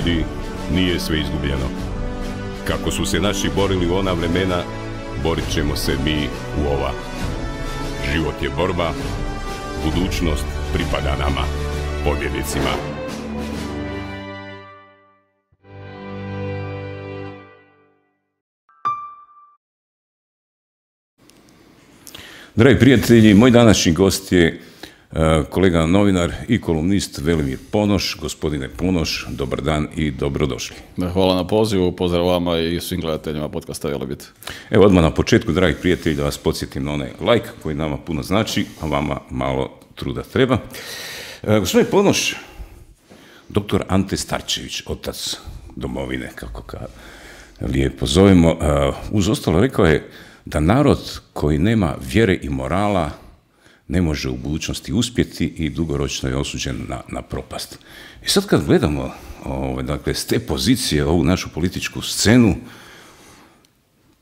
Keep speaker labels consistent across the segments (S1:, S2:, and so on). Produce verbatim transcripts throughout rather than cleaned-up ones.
S1: ljudi, nije sve izgubljeno. Kako su se naši borili u ona vremena, borit ćemo se mi u ova. Život je borba, budućnost pripada nama, pobjednicima. Dragi prijatelji, moj današnji gost je kolega novinar i kolumnist Velimir Ponoš. Gospodine Ponoš, dobar dan i dobrodošli.
S2: Hvala na pozivu, pozdrav vama i svim gledateljima podcasta Velebit.
S1: Evo odmah na početku, dragi prijatelji, da vas podsjetim na onaj like koji nama puno znači, a vama malo truda treba. E, gospodine Ponoš, doktor Ante Starčević, otac domovine, kako ga lijepo zovemo, e, uz ostalo rekao je da narod koji nema vjere i morala ne može u budućnosti uspjeti i dugoročno je osuđen na, na propast. I sad kad gledamo ovaj, dakle, s te pozicije ovu našu političku scenu,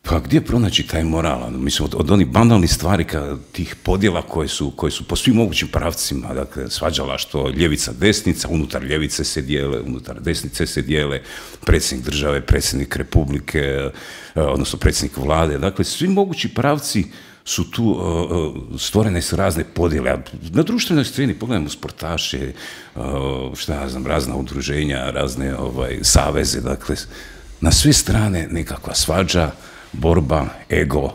S1: pa gdje pronaći taj moral? Mislim, od, od onih banalnih stvari, ka, tih podjela koje su, koje su po svim mogućim pravcima, dakle, svađala što ljevica, desnica, unutar ljevice se dijele, unutar desnice se dijele, predsjednik države, predsjednik republike, odnosno predsjednik vlade, dakle, svi mogući pravci su tu, uh, stvorene su razne podjele. Na društvenoj sceni pogledajmo sportaše, uh, šta ja znam, razna udruženja, razne ovaj, saveze, dakle, na sve strane nekakva svađa, borba, ego,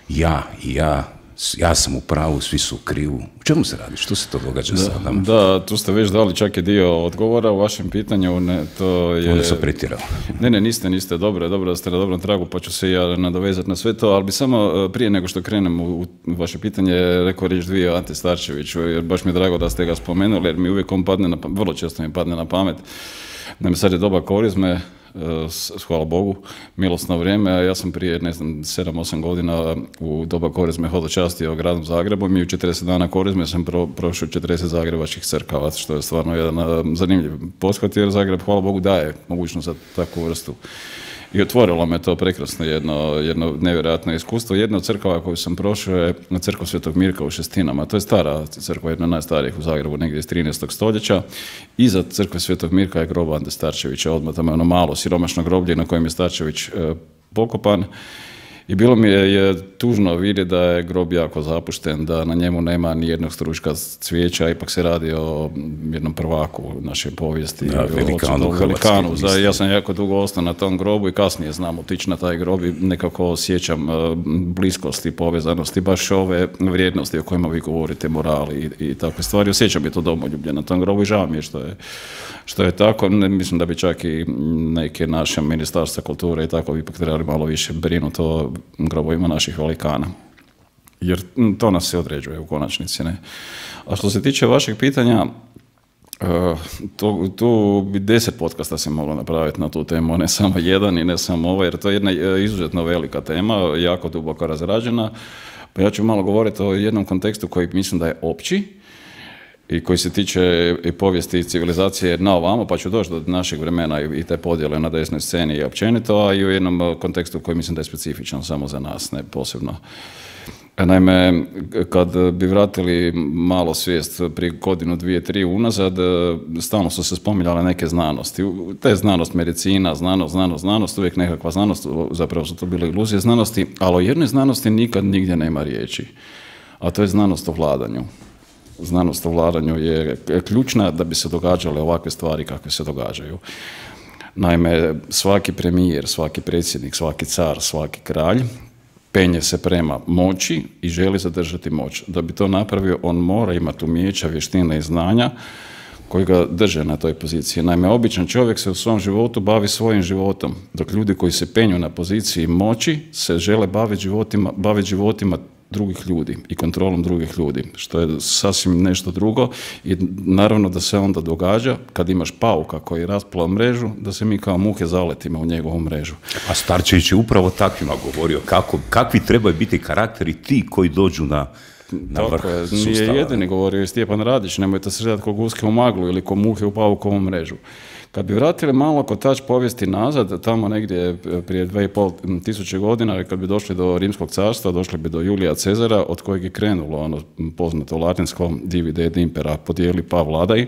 S1: ja i ja, ja sam u pravu, svi su u krivu. U čemu se radi? Što se to događa
S2: da,
S1: sada?
S2: Da, tu ste već dali čak i dio odgovora u vašem pitanju. Ne, to je...
S1: Onda sam pretjerao.
S2: Ne, ne, niste, niste. Dobro, dobro da ste na dobrom tragu, pa ću se ja nadovezati na sve to, ali bi samo prije nego što krenem u, u vaše pitanje rekao riječ dvije o Ante Starčeviću, jer baš mi je drago da ste ga spomenuli, jer mi uvijek on padne na pamet, vrlo često mi padne na pamet. Naime, sad je doba korizme, hvala Bogu, milosno vrijeme, a ja sam prije, ne znam, sedam osam godina u doba korizme hodočastio gradom Zagrebom i u četrdeset dana korizme sam pro, prošao četrdeset zagrebačkih crkava, što je stvarno jedan uh, zanimljiv pothvat, jer Zagreb, hvala Bogu, daje mogućnost za takvu vrstu. I otvorilo me to prekrasno jedno, jedno nevjerojatno iskustvo. Jedna od crkava koju sam prošao je crkva Svetog Mirka u Šestinama. To je stara crkva, jedna od najstarijih u Zagrebu, negdje iz trinaestog stoljeća. Iza crkve Svetog Mirka je grob Ante Starčevića, odmah tamo je ono malo siromašno groblje na kojem je Starčević e, pokopan. I bilo mi je, je tužno vidjeti da je grob jako zapušten, da na njemu nema ni jednog stručka cvijeća, ipak se radi o jednom prvaku naše povijesti.
S1: Da, velikanu,
S2: velikanu. Za, ja sam jako dugo ostao na tom grobu i kasnije znam otići na taj grob i nekako osjećam uh, bliskosti, povezanosti, baš ove vrijednosti o kojima vi govorite, morali i, i takve stvari. Osjećam je to domoljublje na tom grobu i žao mi je što je, što je tako. Ne, mislim da bi čak i neke naše ministarstva kulture i tako ipak trebali malo više brinuti o grobovima naših velikana. Jer to nas se određuje u konačnici. Ne? A što se tiče vašeg pitanja, tu, tu bi deset podcasta se moglo napraviti na tu temu, ne samo jedan i ne samo ovo, jer to je jedna izuzetno velika tema, jako duboko razrađena. Pa ja ću malo govoriti o jednom kontekstu koji mislim da je opći i koji se tiče i povijesti i civilizacije na ovamo, pa ću doći do našeg vremena i te podjele na desnoj sceni i općenito, a i u jednom kontekstu koji mislim da je specifičan samo za nas, ne posebno. Naime, kad bi vratili malo svijest prije godinu, dvije, tri unazad, stalno su se spominjale neke znanosti. Te znanost, medicina, znanost, znanost, znanost, uvijek nekakva znanost, zapravo su to bile iluzije znanosti, ali o jednoj znanosti nikad nigdje nema riječi, a to je znanost o vladanju. Znanost o vladanju je ključna da bi se događale ovakve stvari kakve se događaju. Naime, svaki premijer, svaki predsjednik, svaki car, svaki kralj penje se prema moći i želi zadržati moć. Da bi to napravio, on mora imati umijeća, vještine i znanja koji ga drže na toj poziciji. Naime, običan čovjek se u svom životu bavi svojim životom, dok ljudi koji se penju na poziciji moći se žele baviti životima, baviti životima drugih ljudi i kontrolom drugih ljudi, što je sasvim nešto drugo i naravno da se onda događa kad imaš pauka koji rasplao mrežu, da se mi kao muhe zaletimo u njegovu mrežu.
S1: A Starčević je upravo takvima govorio, kako, kakvi trebaju biti karakteri ti koji dođu na, na vrh sustava.
S2: Nije jedini govorio i Stjepan Radić, nemojte se željeti ko guske u maglu ili ko muhe u paukovu mrežu. Kad bi vratili malo kotač povijesti nazad, tamo negdje prije dve i pol tisuće godina, kad bi došli do Rimskog carstva, došli bi do Julija Cezara, od kojeg je krenulo ono poznato latinsko divide et impera, podijeli pa vladaj,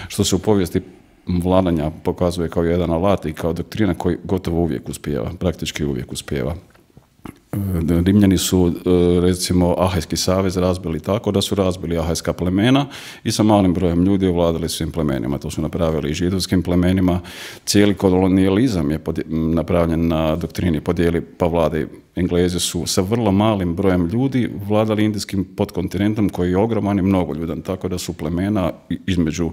S2: što se u povijesti vladanja pokazuje kao jedan alat i kao doktrina koji gotovo uvijek uspijeva, praktički uvijek uspijeva. Rimljani su, recimo, Ahajski savez razbili tako da su razbili ahajska plemena i sa malim brojem ljudi ovladali svim plemenima. To su napravili i židovskim plemenima. Cijeli kolonijalizam je napravljen na doktrini podijeli pa vlade. Englezi su sa vrlo malim brojem ljudi vladali indijskim podkontinentom koji je ogroman i mnogoljudan, tako da su plemena između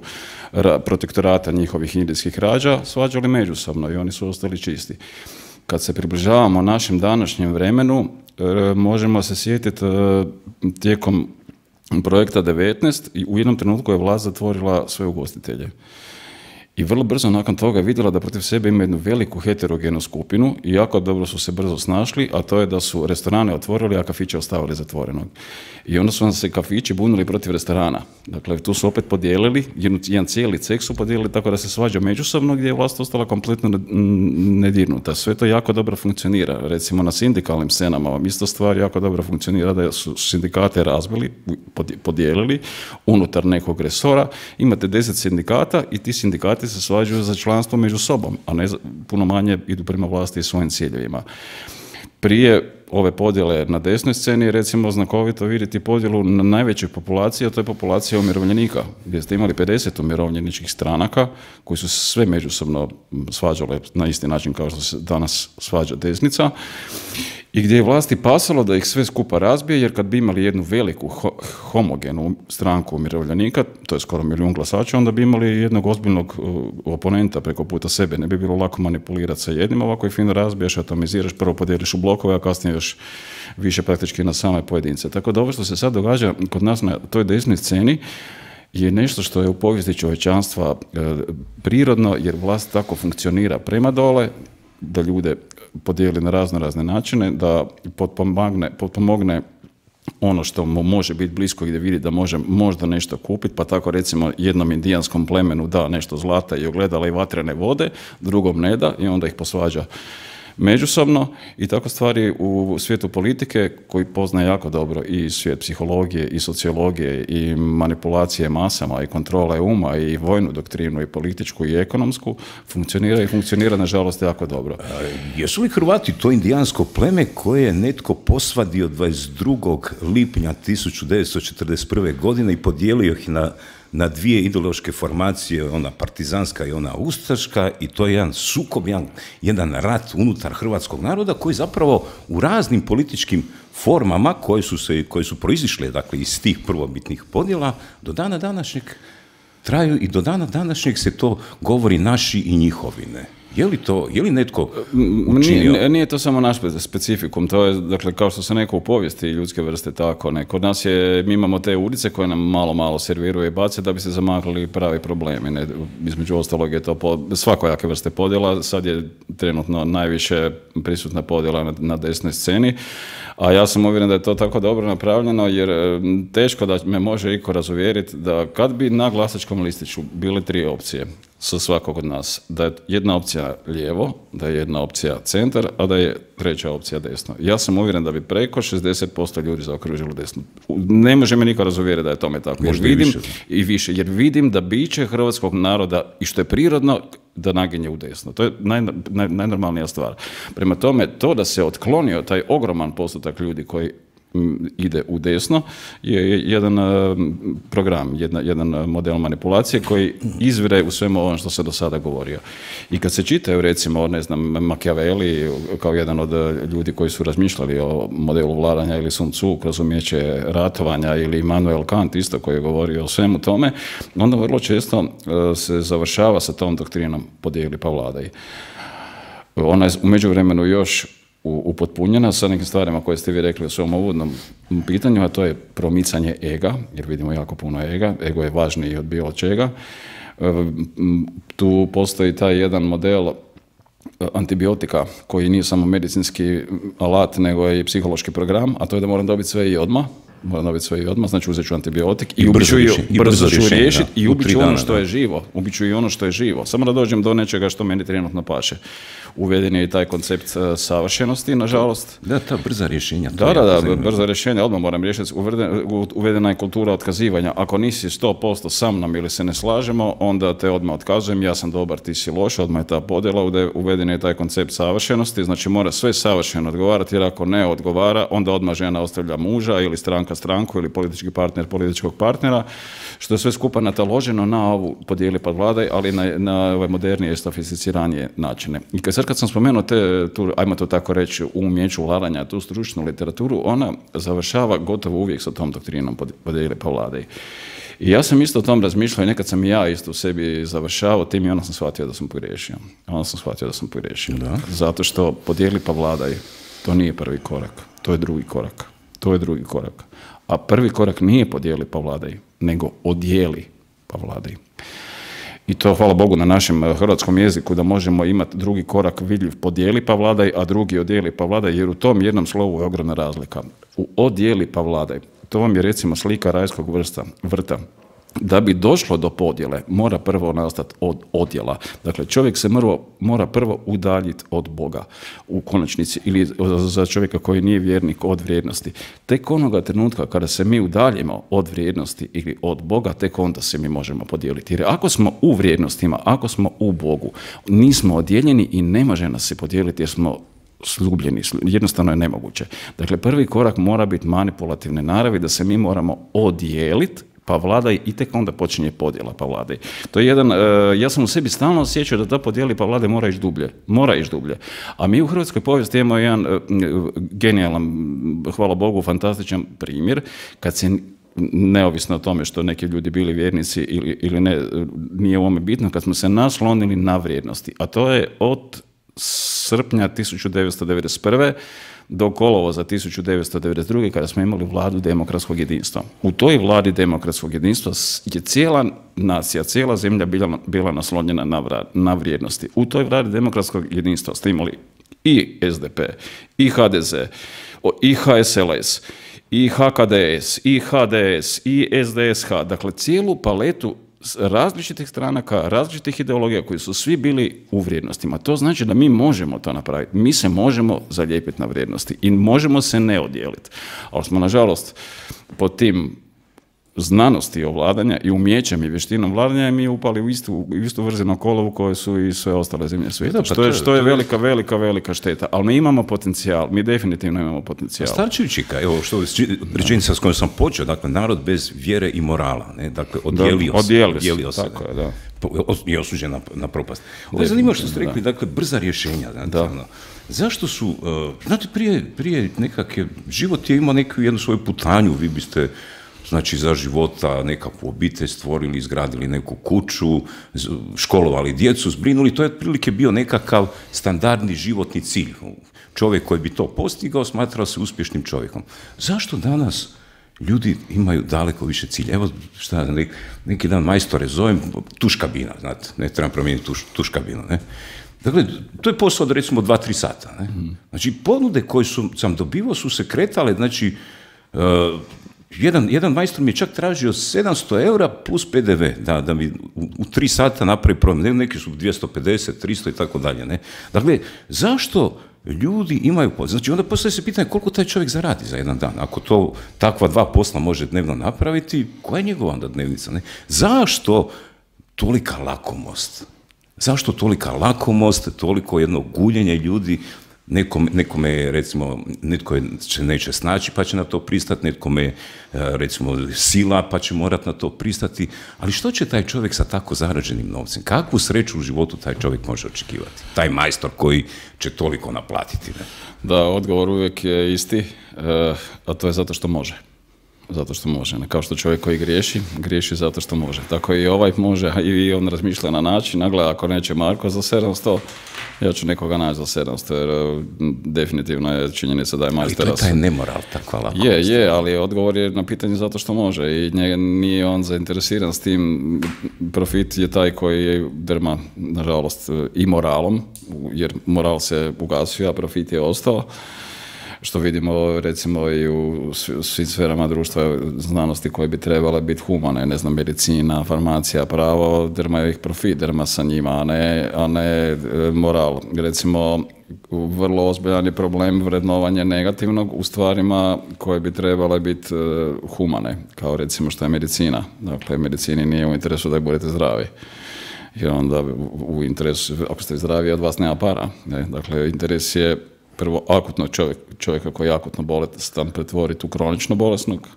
S2: protektorata njihovih indijskih rađa svađali međusobno i oni su ostali čisti. Kad se približavamo našem današnjem vremenu, možemo se sjetiti tijekom projekta devetnaest i u jednom trenutku je vlast zatvorila sve ugostitelje. I vrlo brzo nakon toga je vidjela da protiv sebe ima jednu veliku heterogenu skupinu i jako dobro su se brzo snašli, a to je da su restorane otvorili, a kafiće ostavili zatvorenog. I onda su se kafići bunili protiv restorana. Dakle, tu su opet podijelili, jedan, jedan cijeli ceh su podijelili tako da se svađa međusobno, gdje je vlast ostala kompletno nedirnuta. Sve to jako dobro funkcionira. Recimo na sindikalnim scenama vam isto stvar jako dobro funkcionira, da su sindikate razbili, podijelili unutar nekog resora. Imate deset sindikata i ti sindikati se svađaju za članstvo među sobom, a ne puno manje idu prema vlasti i svojim ciljevima. Prije ove podjele na desnoj sceni je recimo znakovito vidjeti podjelu na najvećoj populaciji, a to je populacija umirovljenika, gdje ste imali pedeset umirovljeničkih stranaka koji su se sve međusobno svađale na isti način kao što se danas svađa desnica i gdje je vlasti pasalo da ih sve skupa razbije, jer kad bi imali jednu veliku ho- homogenu stranku umirovljenika, to je skoro milijun glasača, onda bi imali jednog ozbiljnog uh, oponenta preko puta sebe. Ne bi bilo lako manipulirati sa jednim, ovako i fino razbiješ, atomiziraš, prvo podijeliš u blokove, a kasnije još više praktički na same pojedince. Tako da ovo što se sad događa kod nas na toj desnoj sceni je nešto što je u povijesti čovječanstva uh, prirodno, jer vlast tako funkcionira prema dole, da ljude podijeli na razno razne načine, da potpomogne, potpomogne ono što mu može biti blisko i da vidi da može možda nešto kupiti, pa tako recimo jednom indijanskom plemenu da nešto zlata i ogledala i vatrene vode, drugom ne da i onda ih posvađa međusobno i tako stvari u svijetu politike koji poznaje jako dobro i svijet psihologije i sociologije i manipulacije masama i kontrole uma i vojnu doktrinu i političku i ekonomsku funkcionira i funkcionira nažalost jako dobro.
S1: A, jesu li Hrvati to indijansko pleme koje je netko posvadio dvadeset drugog lipnja tisuću devetsto četrdeset prve. godine i podijelio ih na na dvije ideološke formacije, ona partizanska i ona ustaška, i to je jedan sukob, jedan, jedan rat unutar hrvatskog naroda koji zapravo u raznim političkim formama koje su, se, koje su proizišle dakle, iz tih prvobitnih podjela do dana današnjeg traju i do dana današnjeg se to govori naši i njihovi, ne? Je li to, je li netko učinio?
S2: Nije, nije to samo naš specifikum, to je, dakle, kao što se neko u povijesti ljudske vrste tako, ne. Kod nas je, mi imamo te ulice koje nam malo, malo serviraju i bace da bi se zamakli pravi problemi, ne. Između ostalog je to po, svakojake vrste podjela, sad je trenutno najviše prisutna podjela na, na desnoj sceni, a ja sam uvjeren da je to tako dobro napravljeno, jer teško da me može iko razuvjeriti da kad bi na glasačkom listiću bile tri opcije sa svakog od nas, da je jedna opcija lijevo, da je jedna opcija centar, a da je treća opcija desno. Ja sam uvjeren da bi preko šezdeset posto ljudi zaokružilo desno. Ne može me niko razuvjeriti da je tome tako. Jer vidim, i više. I više. Jer vidim da biće hrvatskog naroda, i što je prirodno, da naginje u desno. To je naj, naj, najnormalnija stvar. Prema tome, to da se otklonio taj ogroman postotak ljudi koji ide u desno je jedan program, jedna, jedan model manipulacije koji izvire u svemu ovom što se do sada govorio. I kad se čitaju recimo, ne znam, Machiavelli kao jedan od ljudi koji su razmišljali o modelu vladanja, ili Sun Tzu kroz umijeće ratovanja, ili Immanuel Kant isto koji je govorio o svemu tome, onda vrlo često se završava sa tom doktrinom podijeli pa vladaj. Ona je u međuvremenu još upotpunjena sa nekim stvarima koje ste vi rekli u svom uvodnom pitanju, a to je promicanje ega, jer vidimo jako puno ega, ego je važniji od bilo čega. Tu postoji taj jedan model antibiotika koji nije samo medicinski alat, nego je i psihološki program, a to je da moram dobiti sve i odmah, moram dobiti sve i odmah, znači uzet ću antibiotik i,
S1: I
S2: brzo,
S1: brzo,
S2: i brzo ću riješiti i ubit ću ono
S1: dana,
S2: što
S1: da.
S2: je živo. Ubit ću i ono što je živo. Samo da dođem do nečega što meni trenutno paše. Uveden je i taj koncept uh, savršenosti, nažalost.
S1: Da, ta brza rješenja.
S2: Da, da, da, brza rješenja, odmah moram riješiti. Uvedena je kultura otkazivanja. Ako nisi sto posto sa mnom ili se ne slažemo, onda te odmah otkazujem, ja sam dobar, ti si loš, odmah je ta podjela, uveden je taj koncept savršenosti, znači mora sve savršeno odgovarati, jer ako ne odgovara, onda odmah žena ostavlja muža ili stranka stranku ili politički partner političkog partnera, što je sve skupa nataloženo na ovu podijeli pa vladaj, ali na, na ove modernije i sofisticiranije načine. I kad, sad kad sam spomenuo te, tu, ajmo to tako reći, u umjeću vladanja, tu stručnu literaturu, ona završava gotovo uvijek sa tom doktrinom podijeli pa vladaj. I ja sam isto o tom razmišljao i nekad sam i ja isto u sebi završavao tim i onda sam shvatio da sam pogriješio. Onda sam shvatio da sam pogriješio. Da. Zato što podijeli pa vladaj, to nije prvi korak, to je drugi korak. To je drugi korak. A prvi korak nije podijeli pa vladaj, nego odijeli pa vladaj. I to, hvala Bogu, na našem hrvatskom jeziku da možemo imati drugi korak vidljiv podijeli pa vladaj, a drugi odijeli pa vladaj, jer u tom jednom slovu je ogromna razlika. U odijeli pa vladaj, to vam je recimo slika rajskog vrsta, vrta. Da bi došlo do podjele, mora prvo nastati od odjela. Dakle, čovjek se mora, mora prvo udaljiti od Boga u konačnici, ili za čovjeka koji nije vjernik od vrijednosti. Tek onoga trenutka kada se mi udaljimo od vrijednosti ili od Boga, tek onda se mi možemo podijeliti. Jer ako smo u vrijednostima, ako smo u Bogu, nismo odjeljeni i ne može nas se podijeliti jer smo slubljeni, jednostavno je nemoguće. Dakle, prvi korak mora biti manipulativne naravi, da se mi moramo odijeliti pa vladaj i tek onda počinje podjela pa vladaj. To je jedan, uh, ja sam u sebi stalno osjećao da ta podijeli pa vladaj mora ići dublje. Mora ići dublje. A mi u hrvatskoj povijesti imamo jedan uh, genijalan, hvala Bogu, fantastičan primjer, kad se neovisno o tome što neki ljudi bili vjernici ili, ili ne, nije u ovome bitno, kad smo se naslonili na vrijednosti. A to je od srpnja tisuću devetsto devedeset prve do kolovoza tisuću devetsto devedeset druge kada smo imali vladu demokratskog jedinstva. U toj vladi demokratskog jedinstva je cijela nacija, cijela zemlja bila, bila naslonjena na, vra, na vrijednosti. U toj vladi demokratskog jedinstva ste imali i es de pe, i ha de ze, i ha es el es, i ha ka de es, i ha de es, i es de es ha, dakle cijelu paletu različitih stranaka, različitih ideologija koji su svi bili u vrijednostima. To znači da mi možemo to napraviti. Mi se možemo zalijepiti na vrijednosti i možemo se ne odijeliti. Ali smo, nažalost, pod tim znanosti ovladanja i umjećem i vještinom vladanja mi upali u istu, u istu vrzinu kolovu koje su i sve ostale zemlje svijeta. Što je, što je velika, velika, velika šteta. Ali mi imamo potencijal. Mi definitivno imamo potencijal.
S1: Starčevićika, evo što je rečenica s kojom sam počeo, dakle, narod bez vjere i morala, ne? Dakle, odijelio
S2: da,
S1: se.
S2: Odijelio se,
S1: tako
S2: je, da.
S1: Je osuđen na, na propast. Ovo je zanimljivo što ste rekli, da. Dakle, brza rješenja. Znate, da. Ono, zašto su, uh, znate, prije, prije nekakve, život je imao neku jednu svoju putanju, vi biste, znači, za života nekakvu obitelj stvorili, izgradili neku kuću, školovali djecu, zbrinuli, to je otprilike bio nekakav standardni životni cilj. Čovjek koji bi to postigao smatrao se uspješnim čovjekom. Zašto danas ljudi imaju daleko više cilja? Evo, šta, neki dan majstore zovem, tuš kabina, znate, ne trebam promijeniti tuš, tuš kabinu, ne? Dakle, to je posao od recimo dva tri sata, ne? Mm. Znači, ponude koje su, sam dobivao su se kretale, znači, uh, Jedan, jedan majstor mi je čak tražio sedamsto eura plus pe de ve, da, da mi u, u tri sata napravi problem. Neki su dvjesto pedeset, tristo i tako dalje. Ne? Dakle, zašto ljudi imaju posao? Znači, onda postoje se pitanje koliko taj čovjek zaradi za jedan dan. Ako to takva dva posla može dnevno napraviti, koja je njegova onda dnevnica? Ne? Zašto tolika lakomost? Zašto tolika lakomost, toliko jedno guljenje ljudi? Nekome, nekome je, recimo, netko će neće snaći pa će na to pristati, nekome je, recimo, sila pa će morati na to pristati, ali što će taj čovjek sa tako zarađenim novcem? Kakvu sreću u životu taj čovjek može očekivati? Taj majstor koji će toliko naplatiti. Ne?
S2: Da, odgovor uvijek je isti, a to je zato što može. Zato što može. Kao što čovjek koji griješi, griješi zato što može. Tako i ovaj može, i on razmišlja na način, nagleda, ako neće Marko za sedamsto, ja ću nekoga naći za sedamsto, jer definitivno je činjenica da je majstor.
S1: Ali to je taj nemoral, takva lakost.
S2: Je, je, ali odgovor je na pitanje zato što može i njega nije on zainteresiran s tim. Profit je taj koji je drma, nažalost, i moralom, jer moral se ugasio, a profit je ostao. što vidimo recimo i u svim sferama društva znanosti koje bi trebale biti humane, ne znam, medicina, farmacija, pravo, drma je ih profit, drma sa njima, a ne, a ne moral. Recimo, vrlo ozbiljan je problem vrednovanja negativnog u stvarima koje bi trebale biti humane, kao recimo što je medicina. Dakle, medicini nije u interesu da budete zdravi. Jer onda u interesu, ako ste zdravi, od vas nema para. Ne? Dakle, interes je prvo akutno čovjek, čovjeka koji je akutno bolestan pretvoriti u kronično bolesnog,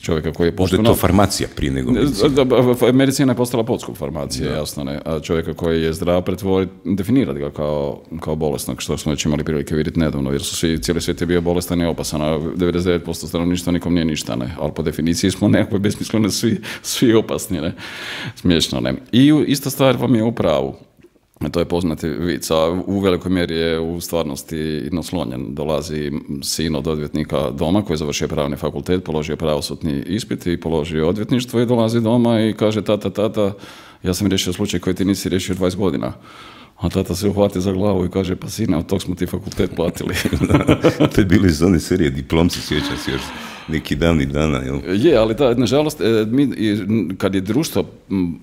S2: čovjeka koji je potpuno...
S1: Možda je to farmacija prije nego medicina.
S2: Medicina je postala podskup farmacije, da. Jasno ne. A čovjeka koji je zdrav pretvoriti, definirati ga kao, kao bolesnog, što smo već imali prilike vidjeti nedavno, jer su svi, cijeli svijet je bio bolestan i opasan, a devedeset devet posto stanovništva nikom nije ništa, ne. Ali po definiciji smo nekako besmisleno svi, svi opasni, ne. Smiješno, ne. I ista stvar vam je u pravu. To je poznati vic, a u velikoj mjeri je u stvarnosti naslonjen. Dolazi sin od odvjetnika doma koji je završio pravni fakultet, položio pravosudni ispit i položio odvjetništvo i dolazi doma i kaže tata, tata, ja sam riješio slučaj koji ti nisi riješio dvadeset godina. A tata se uhvati za glavu i kaže, pa sine, od tog smo ti fakultet platili.
S1: To je bilo iz one serije Diplomci, sjećam se još neki davni dana. Jel?
S2: Je, ali da, nažalost, mi, kad je društvo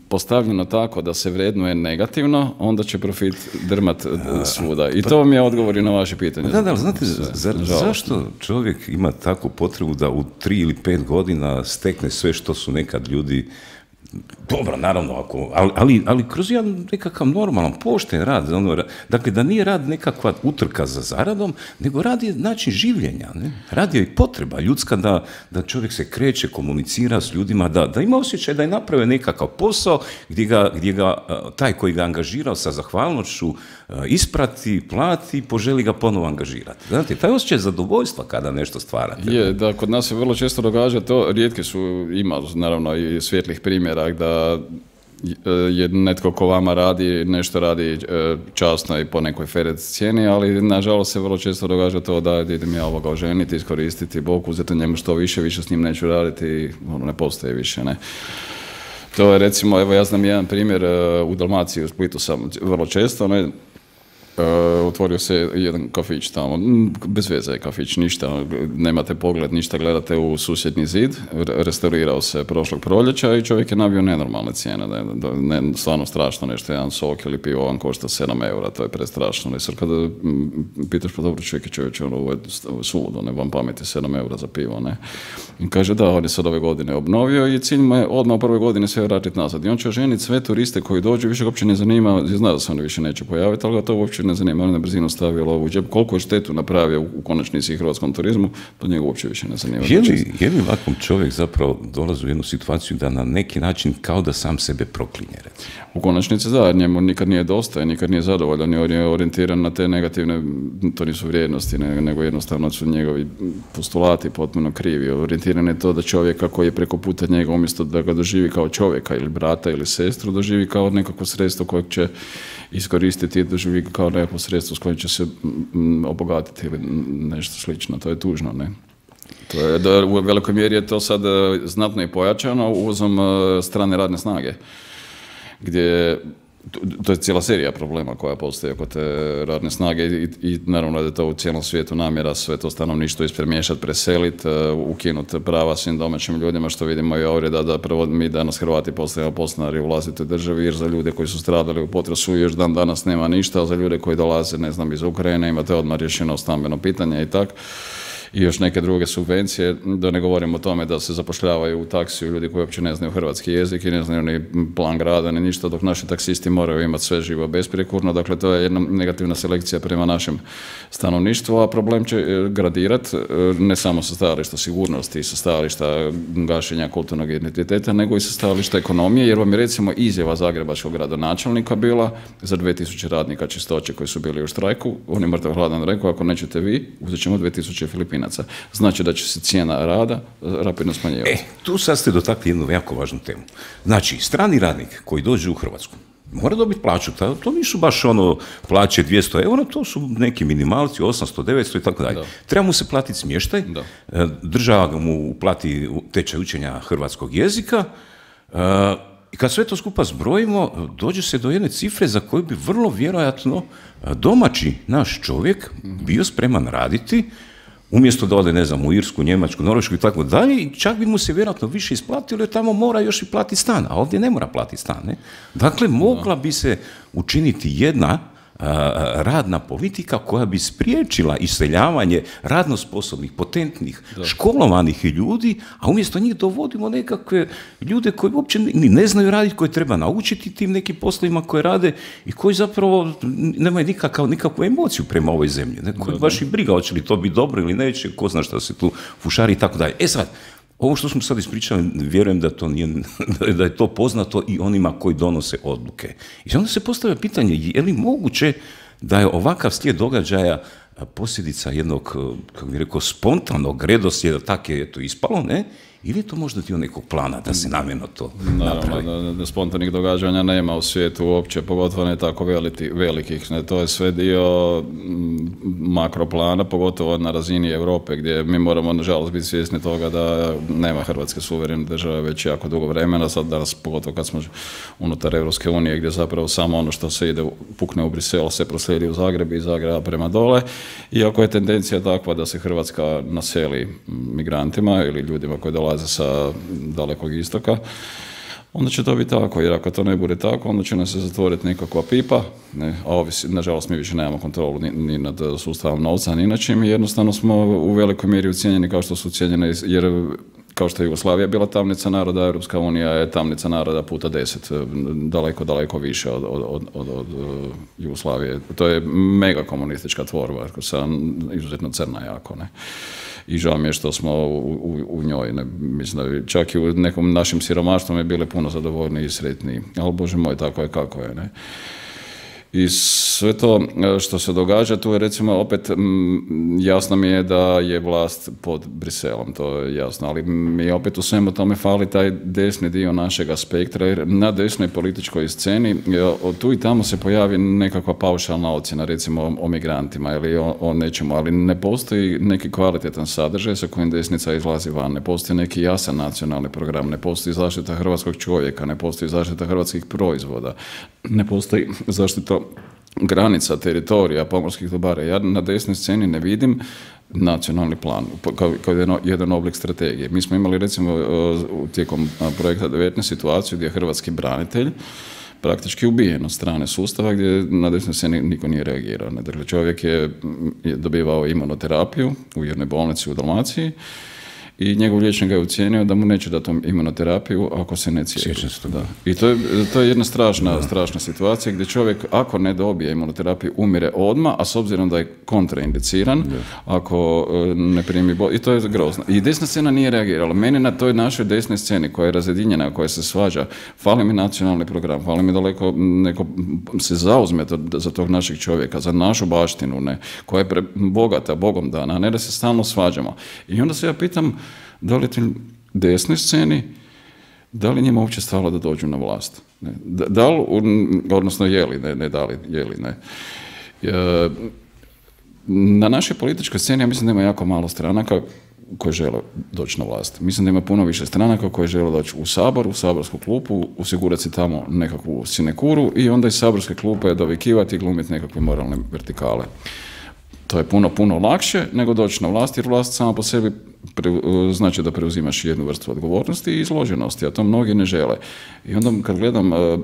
S2: postavljeno tako da se vrednuje negativno, onda će profit drmat svuda. I to vam je odgovor i na vaše pitanje.
S1: Da, da, znate, za, zašto čovjek ima takvu potrebu da u tri ili pet godina stekne sve što su nekad ljudi... Dobro, naravno, ako, ali, ali, ali kroz jedan nekakav normalan, pošten rad, ono, dakle, da nije rad nekakva utrka za zaradom, nego rad je način življenja, ne? Rad je i potreba ljudska da, da čovjek se kreće, komunicira s ljudima, da, da ima osjećaj da je napravio nekakav posao gdje ga, gdje ga taj koji ga angažirao sa zahvalnošću isprati, plati i poželi ga ponovo angažirati. Znate, taj osjećaj zadovoljstva kada nešto stvarate.
S2: Je, da, kod nas se vrlo često događa to, rijetki su, ima naravno i svjetlih primjera da je netko ko vama radi, nešto radi časno i po nekoj fer cijeni, ali nažalost se vrlo često događa to da idem ja ovoga oženiti, iskoristiti, Bog uzeti njemu što više, više s njim neću raditi i ono ne postoji više, ne. To je recimo, evo ja znam jedan primjer u Dalmaciji, u Splitu sam vrlo često, ne, Uh, otvorio se jedan kafić tamo, bez veze je kafić, ništa, nemate pogled, ništa, gledate u susjedni zid, restaurirao se prošlog proljeća i čovjek je nabio nenormalne cijene, ne, ne, stvarno strašno nešto, jedan sok ili pivo vam košta sedam eura, to je prestrašno. I sad kada pitaš, pa dobro čovjek je čovječe, ono, ovo je suludo, ne vam pameti sedam eura za pivo, ne. I kaže da, on je sad ove godine obnovio i cilj mu je odmah u prvoj godini sve vratiti nazad. I on će oženiti sve turiste koji dođu, više ga uopće ne zanima, zna da se oni više neće pojaviti, ali ga to uopće ne zanima, on na brzinu stavio lovu u džep. Koliko je štetu napravio u konačnici hrvatskom turizmu, to njega uopće više ne zanima.
S1: Je li, je li ovakvom čovjek zapravo dolazi u jednu situaciju da na neki način kao da sam sebe proklinje? Recimo?
S2: U konačnici da, njemu nikad nije dosta, nikad nije zadovoljan, on je orijentiran na te negativne, to nisu vrijednosti, nego jednostavno su njegovi postulati potpuno krivi. Orijentiran je to da čovjeka koji je preko puta njega, umjesto da ga doživi kao čovjeka ili brata ili sestru, doživi kao nekako sredstvo kojeg će iskoristiti i doživi kao nekako sredstvo s kojim će se obogatiti ili nešto slično. To je tužno, ne? To je, da, u velikoj mjeri je to sad znatno i pojačano uvozom strane radne snage, gdje to je cijela serija problema koja postoji oko te radne snage i, i naravno da je to u cijelom svijetu namjera sve to stanovništvo ispremješati, preseliti, ukinuti prava svim domaćim ljudima, što vidimo i ovdje da, da prvo mi danas Hrvati postajemo podstanari u vlastitoj državi, jer za ljude koji su stradali u potresu još dan danas nema ništa, a za ljude koji dolaze, ne znam, iz Ukrajine imate odmah rješeno stambeno pitanje i tako. I još neke druge subvencije, da ne govorim o tome da se zapošljavaju u taksiju ljudi koji uopće ne znaju hrvatski jezik i ne znaju ni plan grada ni ništa, dok naši taksisti moraju imati sve živo besprijekurno. Dakle, to je jedna negativna selekcija prema našem stanovništvu, a problem će gradirati ne samo sa stajališta sigurnosti i sa stajališta gašenja kulturnog identiteta, nego i sa stajališta ekonomije, jer vam je recimo izjava zagrebačkog gradonačelnika bila za dvije tisuće radnika čistoće koji su bili u štrajku, on je mrtav hladan rekao, ako nećete vi, uzet ćemo dvije tisuće Filipinaca. Znači da će se cijena rada rapidno smanjivati.
S1: E, tu sad ste dotakli jednu jako važnu temu. Znači, strani radnik koji dođe u Hrvatsku mora dobiti plaću, to nisu baš ono plaće dvjesto eura, to su neki minimalci, osamsto, devetsto i tako dalje. Treba mu se platiti smještaj, da. Država mu plati tečaj učenja hrvatskog jezika, I kad sve to skupa zbrojimo, dođe se do jedne cifre za koju bi vrlo vjerojatno domaći naš čovjek bio spreman raditi, umjesto da ode, ne znam, u Irsku, Njemačku, Norvešku i tako dalje, i čak bi mu se vjerojatno više isplatilo, jer tamo mora još i platiti stan, a ovdje ne mora platiti stan. Ne? Dakle, mogla bi se učiniti jedna radna politika koja bi spriječila iseljavanje radno sposobnih, potentnih, da. školovanih ljudi, a umjesto njih dovodimo nekakve ljude koji uopće ni ne znaju raditi, koji treba naučiti tim nekim poslovima koje rade i koji zapravo nemaju nikakav, nikakvu emociju prema ovoj zemlji. Ne? Koji baš i briga, hoće li to biti dobro ili neće, ko zna šta se tu fušari i tako dalje. E sad, ovo što smo sad ispričali, vjerujem da, to nije, da je to poznato i onima koji donose odluke. I onda se postavlja pitanje, je li moguće da je ovakav slijed događaja posljedica jednog, kako bih rekao, spontanog redoslijeda, tako je to ispalo, ne? Ili je to možda dio nekog plana da se namjerno to napravi?
S2: Naravno, da spontanih događanja nema u svijetu uopće, pogotovo ne tako veliki, velikih. Ne, to je sve dio makroplana, pogotovo na razini Europe, gdje mi moramo, nažalost, biti svjesni toga da nema Hrvatske suverene države već jako dugo vremena, sad danas, pogotovo kad smo unutar Europske unije, gdje zapravo samo ono što se ide, pukne u Brisel, se proslijedi u Zagreb i iz Zagreba prema dole. Iako je tendencija takva da se Hrvatska naseli migrantima ili ljudima koji dolaze sa dalekog istoka, onda će to biti tako, jer ako to ne bude tako, onda će nam se zatvoriti nekakva pipa, ne, a ovisi, nažalost mi više nemamo kontrolu ni, ni nad sustavom novca, ni na čim, jednostavno smo u velikoj mjeri ucijenjeni kao što su ucijenjeni, jer kao što je Jugoslavija bila tamnica naroda, Europska unija je tamnica naroda puta deset, daleko, daleko više od, od, od, od, od Jugoslavije. To je mega komunistička tvorba, sa izuzetno crna jako, ne. I žao mi je što smo u, u, u njoj, ne, mislim da čak i u nekom našim siromaštvom je bile puno zadovoljniji i sretniji, ali Bože moj, tako je kako je, ne. I sve to što se događa, tu je recimo opet m, jasno mi je da je vlast pod Briselom, to je jasno, ali mi opet u svemu tome fali taj desni dio našega spektra, jer na desnoj političkoj sceni tu i tamo se pojavi nekakva paušalna ocjena, recimo o, o migrantima ili o, o nečemu, ali ne postoji neki kvalitetan sadržaj sa kojim desnica izlazi van, ne postoji neki jasan nacionalni program, ne postoji zaštita hrvatskog čovjeka, ne postoji zaštita hrvatskih proizvoda, ne postoji zaštita granica, teritorija, pomorskih dobara. Ja na desnoj sceni ne vidim nacionalni plan kao, kao jedan, jedan oblik strategije. Mi smo imali recimo tijekom projekta devetnaest situaciju gdje je hrvatski branitelj praktički ubijen od strane sustava gdje na desnoj sceni niko nije reagirao. Dakle, čovjek je dobivao imunoterapiju u jednoj bolnici u Dalmaciji i njegov liječnik ga je ucijenio da mu neće dati imunoterapiju ako se ne cijepi. Da. I to je, to je jedna strašna, da. strašna situacija gdje čovjek ako ne dobije imunoterapiju umire odmah, a s obzirom da je kontraindiciran, da. ako ne primi bol... I to je grozno. I desna scena nije reagirala. Meni na toj našoj desnoj sceni koja je razjedinjena, koja se svađa, fali mi nacionalni program, fali mi daleko neko se zauzme to, za tog našeg čovjeka, za našu baštinu, ne, koja je pre, bogata, Bogom dana, a ne da se stalno svađamo. I onda se ja pitam da li tim desnoj sceni, da li njima uopće stalo da dođu na vlast? Ne? Da, da li, odnosno je li, ne, ne da li, je li, ne. E, na našoj političkoj sceni ja mislim da ima jako malo stranaka koje žele doći na vlast. Mislim da ima puno više stranaka koje žele doći u Sabor, u saborsku klupu, osigurati si tamo nekakvu sinekuru i onda iz saborske klupe dovikivati i glumiti nekakve moralne vertikale. To je puno, puno lakše nego doći na vlast, jer vlast sama po sebi pre, znači da preuzimaš jednu vrstu odgovornosti i izloženosti, a to mnogi ne žele. I onda kad gledam uh,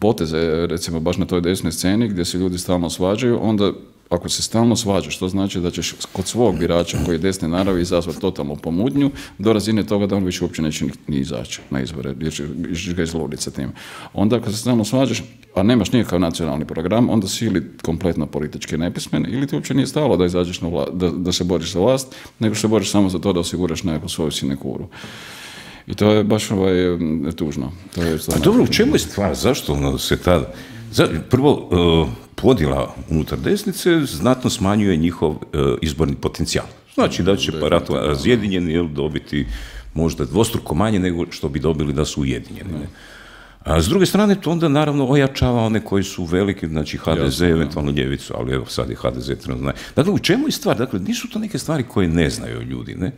S2: poteze, recimo baš na toj desnoj sceni gdje se ljudi stalno svađaju, onda ako se stalno svađaš, to znači da ćeš kod svog birača koji je desne naravi izazvati totalnu pomudnju do razine toga da on više uopće neće ni izaći na izbore, jer ćeš ga izluditi sa tim. Onda ako se stalno svađaš, a nemaš nikakav nacionalni program, onda si ili kompletno politički nepismen ili ti uopće nije stalo da izađeš na vlast, da, da se boriš za vlast, nego se boriš samo za to da osiguraš nekakvu svoju sinekuru. I to je baš ovaj, tužno. To je
S1: a dobro, u čemu je stvar? Zašto se tada... Prvo, uh, podjela unutar desnice znatno smanjuje njihov uh, izborni potencijal. Znači da će parato razjedinjeni jel, dobiti možda dvostruko manje nego što bi dobili da su ujedinjeni. Ne? A s druge strane, to onda naravno ojačava one koji su veliki, znači ha de ze, jasno, eventualno ljevicu, ali evo sad je ha de ze trenutno. Dakle, u čemu je stvar? Dakle, nisu to neke stvari koje ne znaju ljudi, ne?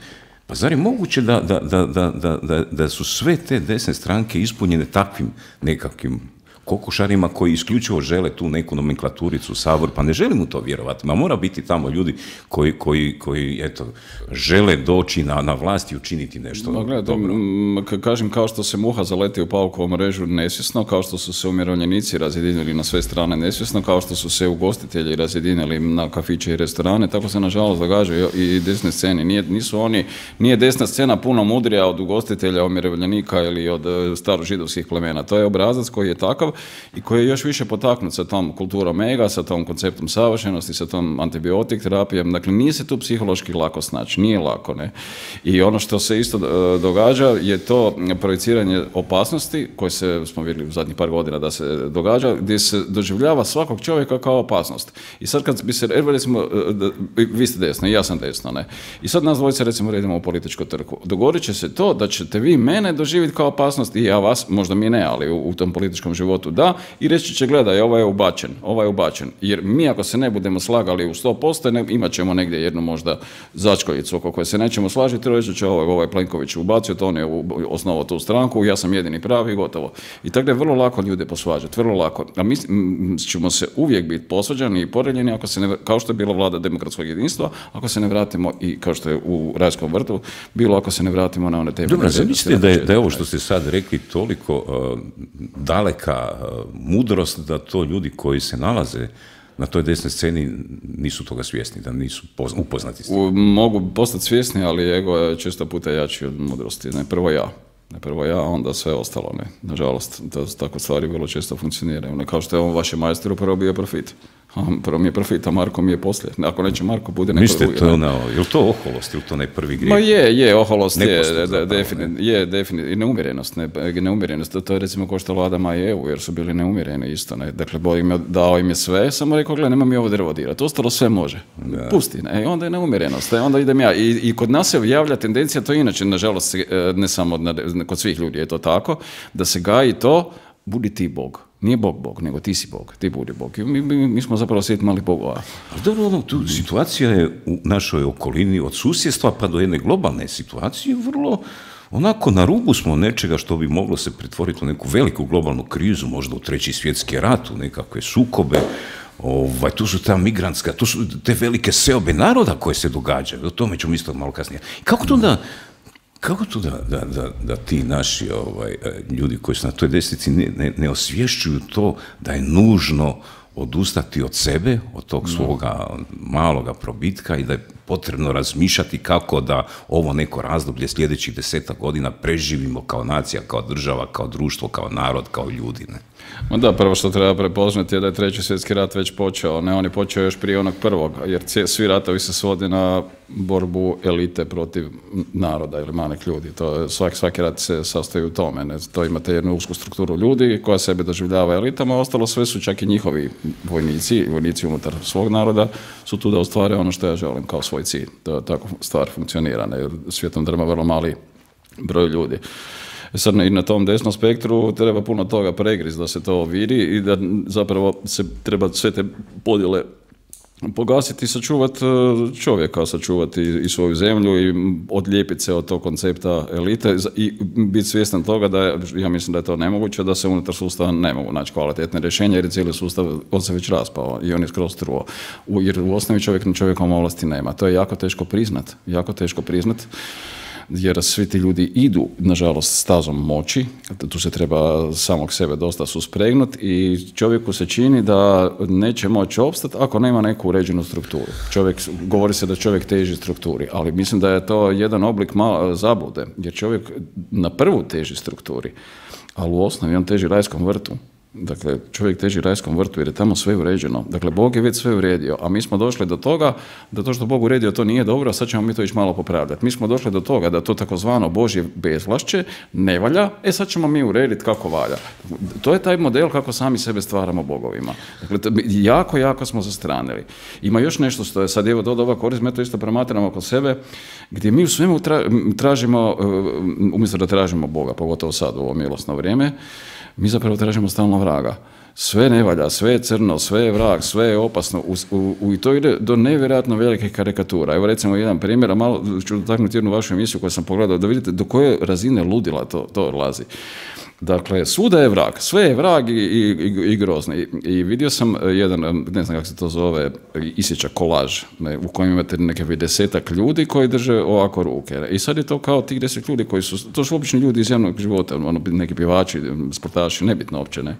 S1: Pa zar je moguće da, da, da, da, da, da su sve te desne stranke ispunjene takvim nekakvim kokošarima koji isključivo žele tu neku nomenklaturicu u Sabor, pa ne želim u to vjerovati. Ma mora biti tamo ljudi koji, koji, koji eto, žele doći na, na vlast i učiniti nešto
S2: no, gled,
S1: dobro.
S2: M, kažem, kao što se muha zaleti u paukovu mrežu nesvjesno, kao što su se umirovljenici razjedinili na sve strane nesvjesno, kao što su se ugostitelji razjedinili na kafiće i restorane, tako se nažalost događa i desne scene. Nije, nisu oni, nije desna scena puno mudrija od ugostitelja, umirovljenika ili od starožidovskih plemena. To je obrazac koji je takav i koji je još više potaknut sa tom kulturom ega, sa tom konceptom savršenosti, sa tom antibiotik terapijom. Dakle, nije se tu psihološki lako snaći, nije lako, ne. I ono što se isto događa je to projeciranje opasnosti, koje se, smo vidjeli u zadnjih par godina da se događa, gdje se doživljava svakog čovjeka kao opasnost. I sad kad bi se, recimo, vi ste desno, ja sam desno, ne. I sad nas dvojice, recimo, redimo u političku trku. Dogodit će se to da ćete vi mene doživjeti kao opasnost i ja vas, možda mi ne, ali u, u tom političkom životu da, i reći će, gledaj, ovaj je ubačen, ovaj je ubačen. Jer mi ako se ne budemo slagali u sto posto, ne, imat ćemo negdje jednu možda začkoljicu oko koje se nećemo slažiti, reći će ovaj, ovaj Plenković ubacio, to on je osnovao tu stranku, ja sam jedini pravi i gotovo. I tako da je vrlo lako ljude posvađati, vrlo lako. A mi ćemo se uvijek biti posvađani i poreljeni, ako se ne, kao što je bila vlada demokratskog jedinstva, ako se ne vratimo i kao što je u Rajskom vrtu, bilo ako se ne vratimo na one teme.
S1: Dobro, zamislite da je, da je ovo što ste sad rekli toliko uh, daleka uh, mudrost da to ljudi koji se nalaze na toj desnoj sceni nisu toga svjesni, da nisu upoznati s tim.
S2: Mogu postati svjesni, ali ego je često puta jači od mudrosti. Ne, prvo ja. Ne, prvo ja, onda sve ostalo. Ne. Nažalost, to, tako stvari vrlo često funkcioniraju. Ne, kao što je on vašem majstoru prvo bio profit. Prvo mi je profit, a Marko mi je poslije. Ako neće Marko, bude neko
S1: Mislite,
S2: drugi.
S1: To je, ono, je li to oholost, ili to ne prvi grijeh?
S2: Ma je, je, oholost je,
S1: zapravo,
S2: definitivno,
S1: ne?
S2: je, definitivno, i neumjerenost, ne, neumjerenost, to, to je recimo ko što vlada Maja Evu, jer su bili neumjereni isto, ne, dakle, Bog im je dao im je sve, samo rekao, gledaj, nema mi ovo drvo dirati, ostalo sve može, da. Pusti, ne, i onda je neumjerenost, onda idem ja, I, i kod nas se javlja tendencija, to inače, nažalost, ne samo kod svih ljudi je to tako, da se gaji to, budi ti Bog. Nije Bog Bog, nego ti si Bog, ti budi Bog. Mi, mi, mi smo zapravo svijet malih bogova.
S1: Dobro, ono, tu situacija je u našoj okolini od susjedstva pa do jedne globalne situacije vrlo onako na rubu smo nečega što bi moglo se pretvoriti u neku veliku globalnu krizu, možda u treći svjetski rat, u nekakve sukobe. Ovaj, tu su ta migrantska, tu su te velike seobe naroda koje se događaju. O tome ćemo isto malo kasnije. Kako to da... Kako to da, da, da, da ti naši ovaj, ljudi koji su na toj desnici ne, ne, ne osvješćuju to da je nužno odustati od sebe, od tog svoga maloga probitka i da je potrebno razmišljati kako da ovo neko razdoblje sljedećih desetak godina preživimo kao nacija, kao država, kao društvo, kao narod, kao ljudi, ne?
S2: Ma da, prvo što treba prepoznati je da je treći svjetski rat već počeo, ne, on je počeo još prije onog prvog, jer svi ratovi se svode na borbu elite protiv naroda ili malih ljudi. To, svaki, svaki rat se sastoji u tome. Ne? To imate jednu usku strukturu ljudi koja sebe doživljava elitama, a ostalo sve su čak i njihovi vojnici, vojnici unutar svog naroda su tu da ostvare ono što ja želim kao svoj cilj. To, tako stvar funkcionira. Ne? Svijetom drma vrlo mali broj ljudi. Sad i na tom desnom spektru treba puno toga pregriz da se to vidi i da zapravo se treba sve te podjele pogasiti i sačuvati čovjeka, sačuvati i svoju zemlju i odlijepiti se od tog koncepta elite i biti svjestan toga da je, ja mislim da je to nemoguće, da se unutar sustava ne mogu naći kvalitetne rješenja jer je cijeli sustav on se već raspao i on je skroz truo. Jer u osnovi čovjek na čovjekom ovlasti nema. To je jako teško priznat, jako teško priznat. Jer svi ti ljudi idu, nažalost, stazom moći, tu se treba samog sebe dosta suspregnuti i čovjeku se čini da neće moći opstati ako nema neku uređenu strukturu. Čovjek, govori se da čovjek teži strukturi, ali mislim da je to jedan oblik malo zablude, jer čovjek na prvu teži strukturi, ali u osnovi on teži rajskom vrtu. Dakle, čovjek teži rajskom vrtu jer je tamo sve uređeno. Dakle, Bog je već sve uredio, a mi smo došli do toga da to što Bog uredio to nije dobro, a sad ćemo mi to ići malo popravljati. Mi smo došli do toga da to takozvano Božje bezvlašće ne valja, e sad ćemo mi urediti kako valja. To je taj model kako sami sebe stvaramo bogovima. Dakle, jako, jako smo zastranili. Ima još nešto što je sad, evo, do ova korist, mi to isto promatramo kod sebe, gdje mi u svemu tražimo, umjesto da tražimo Boga, pogotovo sad u ovo milosno vrijeme, mi zapravo tražimo stalno vraga. sve ne valja, sve je crno, sve je vrag, sve je opasno, u, u, u, i to ide do nevjerojatno velikih karikatura. Evo recimo jedan primjer, a malo ću dotaknuti jednu vašu emisiju koju sam pogledao, da vidite do koje razine ludila to, to lazi. Dakle, svuda je vrag, sve je vrag i, i, i, i grozno. I, I vidio sam jedan, ne znam kako se to zove, isječak kolaž, ne, u kojem imate neke desetak ljudi koji drže ovako ruke. I sad je to kao tih deset ljudi koji su, to su obični ljudi iz javnog života, ono, neki pjevači, sportaši, nebitno uopće, ne,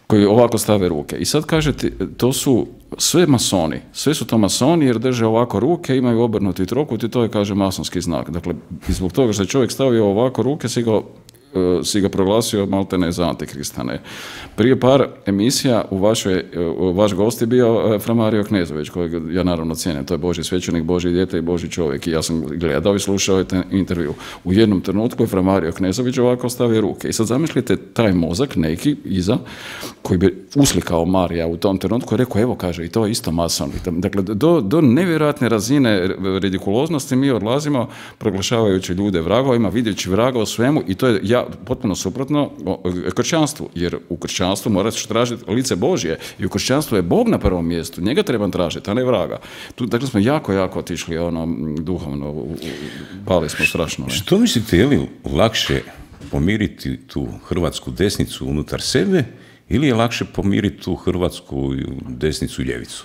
S2: koji ovako stave ruke. I sad kažete, to su sve masoni, sve su to masoni jer drže ovako ruke, imaju obrnuti trokut i to je, kaže, masonski znak. Dakle, zbog toga što je čovjek stavio ovako ruke, si ga si ga proglasio maltene za antikrista. Ne. Prije par emisija u vašoj, vaš gost je bio Fra Mario Knezović, kojeg ja naravno cijenim, to je Božji svećenik, Božji dijete i Božji čovjek i ja sam gledao i slušao taj intervju. U jednom trenutku je Fra Mario Knezović ovako stavio ruke i sad zamislite taj mozak neki iza koji bi uslikao Marija u tom trenutku i rekao, evo kaže, i to je isto mason. Dakle, do, do nevjerojatne razine ridikuloznosti mi odlazimo proglašavajući ljude vragovima, vidjeći vraga u svemu i to je ja potpuno suprotno kršćanstvu, jer u kršćanstvu moraš tražiti lice Božje i u kršćanstvu je Bog na prvom mjestu, njega trebam tražiti, a ne vraga. Tu, dakle, smo jako, jako otišli ono, duhovno, pali smo strašno. Ne?
S1: Što mislite, je li lakše pomiriti tu hrvatsku desnicu unutar sebe ili je lakše pomiriti tu hrvatsku desnicu i ljevicu?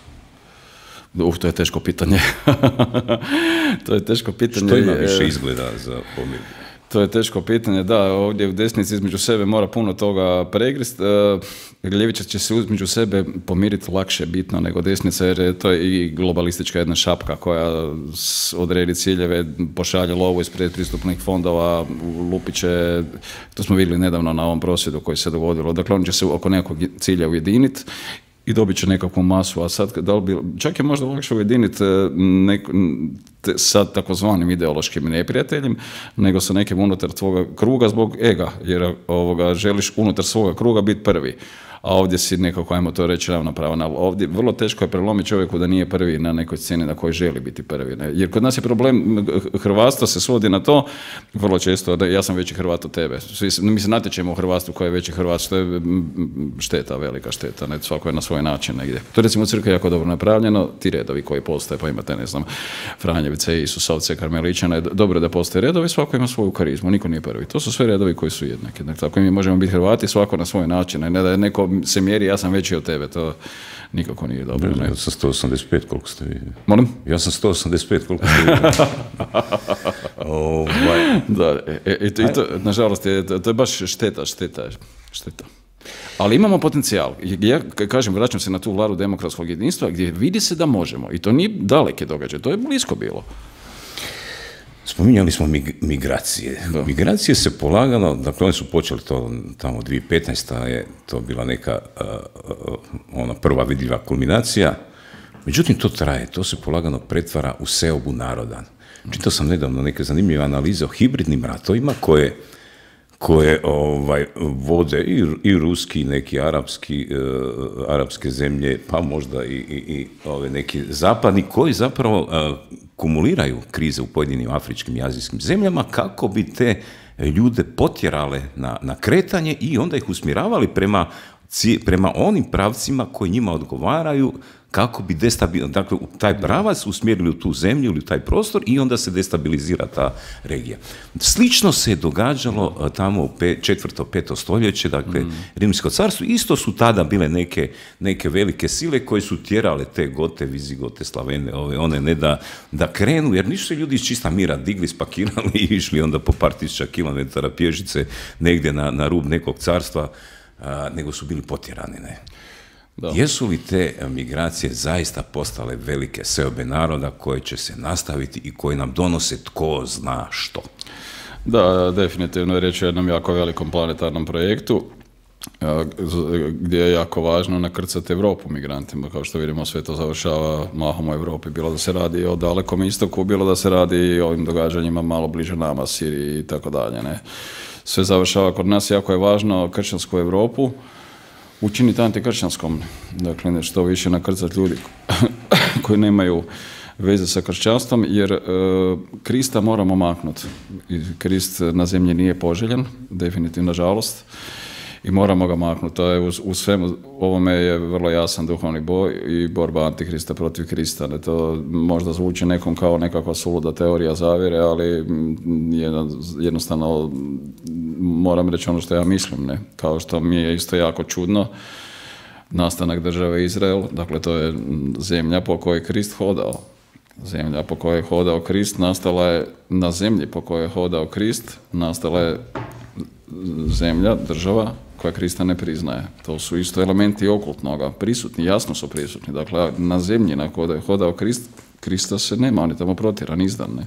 S2: Uf, to je teško pitanje. To je teško pitanje.
S1: Što ima više izgleda za pomir?
S2: To je teško pitanje, da, ovdje u desnici između sebe mora puno toga pregrist. E, ljevičar će se između sebe pomiriti lakše bitno nego desnica, jer to je i globalistička jedna šapka koja odredi ciljeve, pošalje lovu iz predpristupnih fondova, lupiće, to smo vidjeli nedavno na ovom prosvjedu koji se dogodilo. Dakle, on će se oko nekog cilja ujediniti i dobit će nekakvu masu, a sad da li bi, čak je možda lakše ujediniti nek, sa takozvanim ideološkim neprijateljem, nego sa nekim unutar tvoga kruga zbog ega, jer ovoga, želiš unutar svoga kruga biti prvi. A ovdje si nekako, ajmo to reći, ravnopravan. Ali ovdje vrlo teško je prelomiti čovjeku da nije prvi na nekoj sceni na kojoj želi biti prvi. Ne? Jer kod nas je problem, hrvatstvo se svodi na to, vrlo često, da ja sam veći Hrvat od tebe. Svi, mi se natječemo u hrvatstvu ko je veći Hrvat, što je šteta, velika šteta, ne? Svako je na svoj način negdje. To je recimo u crkvi jako dobro napravljeno, ti redovi koji postoje, pa imate, ne znam, Franjevice, Isusovce, Karmeličane, dobro da postoje redovi, svako ima svoju karizmu, niko nije prvi. To su sve redovi koji su jednaki. Dakle, tako mi možemo biti Hrvati, svako na svoj način, ne da je neko se mjeri, ja sam veći od tebe, to nikako nije dobro. Ne?
S1: Ja sam sto osamdeset pet, koliko ste vi?
S2: Molim?
S1: Ja sam sto osamdeset pet, koliko ste vi? oh,
S2: da, e, e, to, i to, nažalost, je, to je baš šteta, šteta, šteta. Ali imamo potencijal. Ja kažem, vraćam se na tu vladu demokratskog jedinstva, gdje vidi se da možemo. I to nije daleke događaje, to je blisko bilo.
S1: Spominjali smo mig- migracije. Da. Migracije se polagano, dakle oni su počeli to tamo dvije tisuće petnaesta je to bila neka uh, uh, ona prva vidljiva kulminacija. Međutim, to traje, to se polagano pretvara u seobu naroda. Čitao sam nedavno neke zanimljive analize o hibridnim ratovima koje koje ovaj, vode i, i ruski, neki arapski, uh, arapske zemlje, pa možda i, i, i ove neki zapadni, koji zapravo uh, kumuliraju krize u pojedinim afričkim i azijskim zemljama kako bi te ljude potjerale na, na kretanje i onda ih usmjeravali prema, prema onim pravcima koji njima odgovaraju, kako bi destabilizirali, dakle, taj pravac usmjerili u tu zemlju ili u taj prostor i onda se destabilizira ta regija. Slično se je događalo tamo u pe, četvrto, peto stoljeće, dakle, mm. Rimsko carstvo, isto su tada bile neke, neke velike sile koje su tjerale te Gote, Vizigote, Slavene, ove, one ne da, da krenu, jer nisu se ljudi iz čista mira digli, spakirali i išli onda po par tisuća kilometara pješice negdje na, na rub nekog carstva, a, nego su bili potjerani, ne. Da. Jesu li te migracije zaista postale velike seobe naroda koje će se nastaviti i koje nam donose tko zna što?
S2: Da, definitivno je riječ o jednom jako velikom planetarnom projektu gdje je jako važno nakrcati Europu migrantima. Kao što vidimo, sve to završava mahom u Europi, bilo da se radi o Dalekom istoku, bilo da se radi o ovim događanjima malo bliže nama, Siriji i tako dalje. Ne? Sve završava kod nas, jako je važno kršćansku Europu učiniti antikršćanskom, dakle što više nakrcati ljudi koji nemaju veze sa kršćanstvom, jer e, Krista moramo maknuti. Krist na zemlji nije poželjen, definitivno, nažalost. i moramo ga maknuti. To je u, u svemu ovome je vrlo jasan duhovni boj i borba Antikrista protiv Krista. Ne, to možda zvuči nekom kao nekakva suluda teorija zavjere, ali jedno, jednostavno moram reći ono što ja mislim. Ne? Kao što mi je isto jako čudno nastanak države Izrael, dakle to je zemlja po kojoj je Krist hodao. Zemlja po kojoj je hodao Krist nastala je na zemlji po kojoj je hodao Krist, nastala je zemlja, država koja Krista ne priznaje. To su isto elementi okultnoga, prisutni, jasno su prisutni. Dakle, na zemlji na kojoj je hodao Krist, Krista se nema, on je tamo protjeran, izdan. Ne?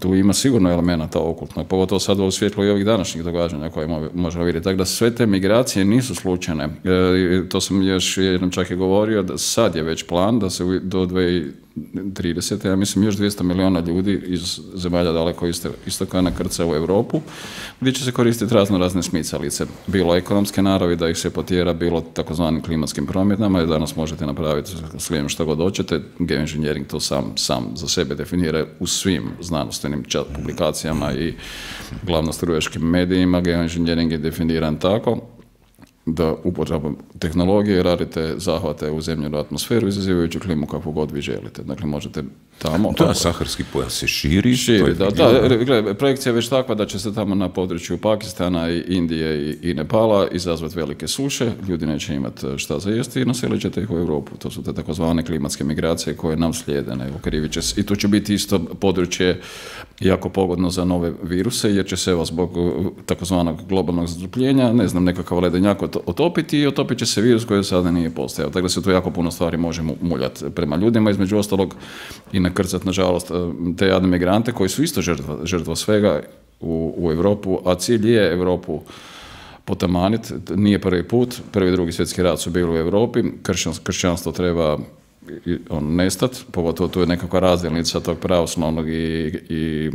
S2: Tu ima sigurno elemenata okultnog, pogotovo sad u svjetlu i ovih današnjih događanja koje možemo vidjeti. Tako da sve te migracije nisu slučajne. E, to sam još jednom čak i govorio, da sad je već plan da se do dvije tisuće tridesete. ja mislim još dvjesto milijuna ljudi iz zemalja daleko istoka nakrca u Europu, gdje će se koristiti razno razne smicalice. Bilo ekonomske naravi da ih se potjera, bilo takozvanim klimatskim promjenama, i danas možete napraviti s lijem što god hoćete. Geoengineering to sam, sam za sebe definira u svim znanstvenim publikacijama i glavno strujačkim medijima. Geoengineering je definiran tako da upotrebom tehnologije radite zahvate u zemljenu atmosferu izazivajući klimu kakvu god vi želite. Dakle, možete tamo...
S1: Da, saharski pojas se širi.
S2: Širi, da. da gledaj, projekcija je već takva da će se tamo na području Pakistana, i Indije i, i Nepala izazvati velike suše, ljudi neće imati šta za jesti i naselit ćete ih u Europu. To su te takozvane klimatske migracije koje nam slijede. Ne? Će se, I tu će biti isto područje jako pogodno za nove viruse, jer će se evo zbog takozvanog globalnog zatopljenja, ne znam, nekakav ledenjak otopiti i otopit će se virus koji sada nije postojao. Tako da se tu jako puno stvari može muljati prema ljudima, između ostalog i nakrcati, nažalost, te jadne migrante koji su isto žrtva, žrtva svega u, u Europu, a cilj je Europu potamaniti. Nije prvi put, prvi i drugi svjetski rat su bili u Europi, Kršćans, kršćanstvo treba on nestati, pogotovo tu je nekakva razdjelnica tog pravoslavnog i, i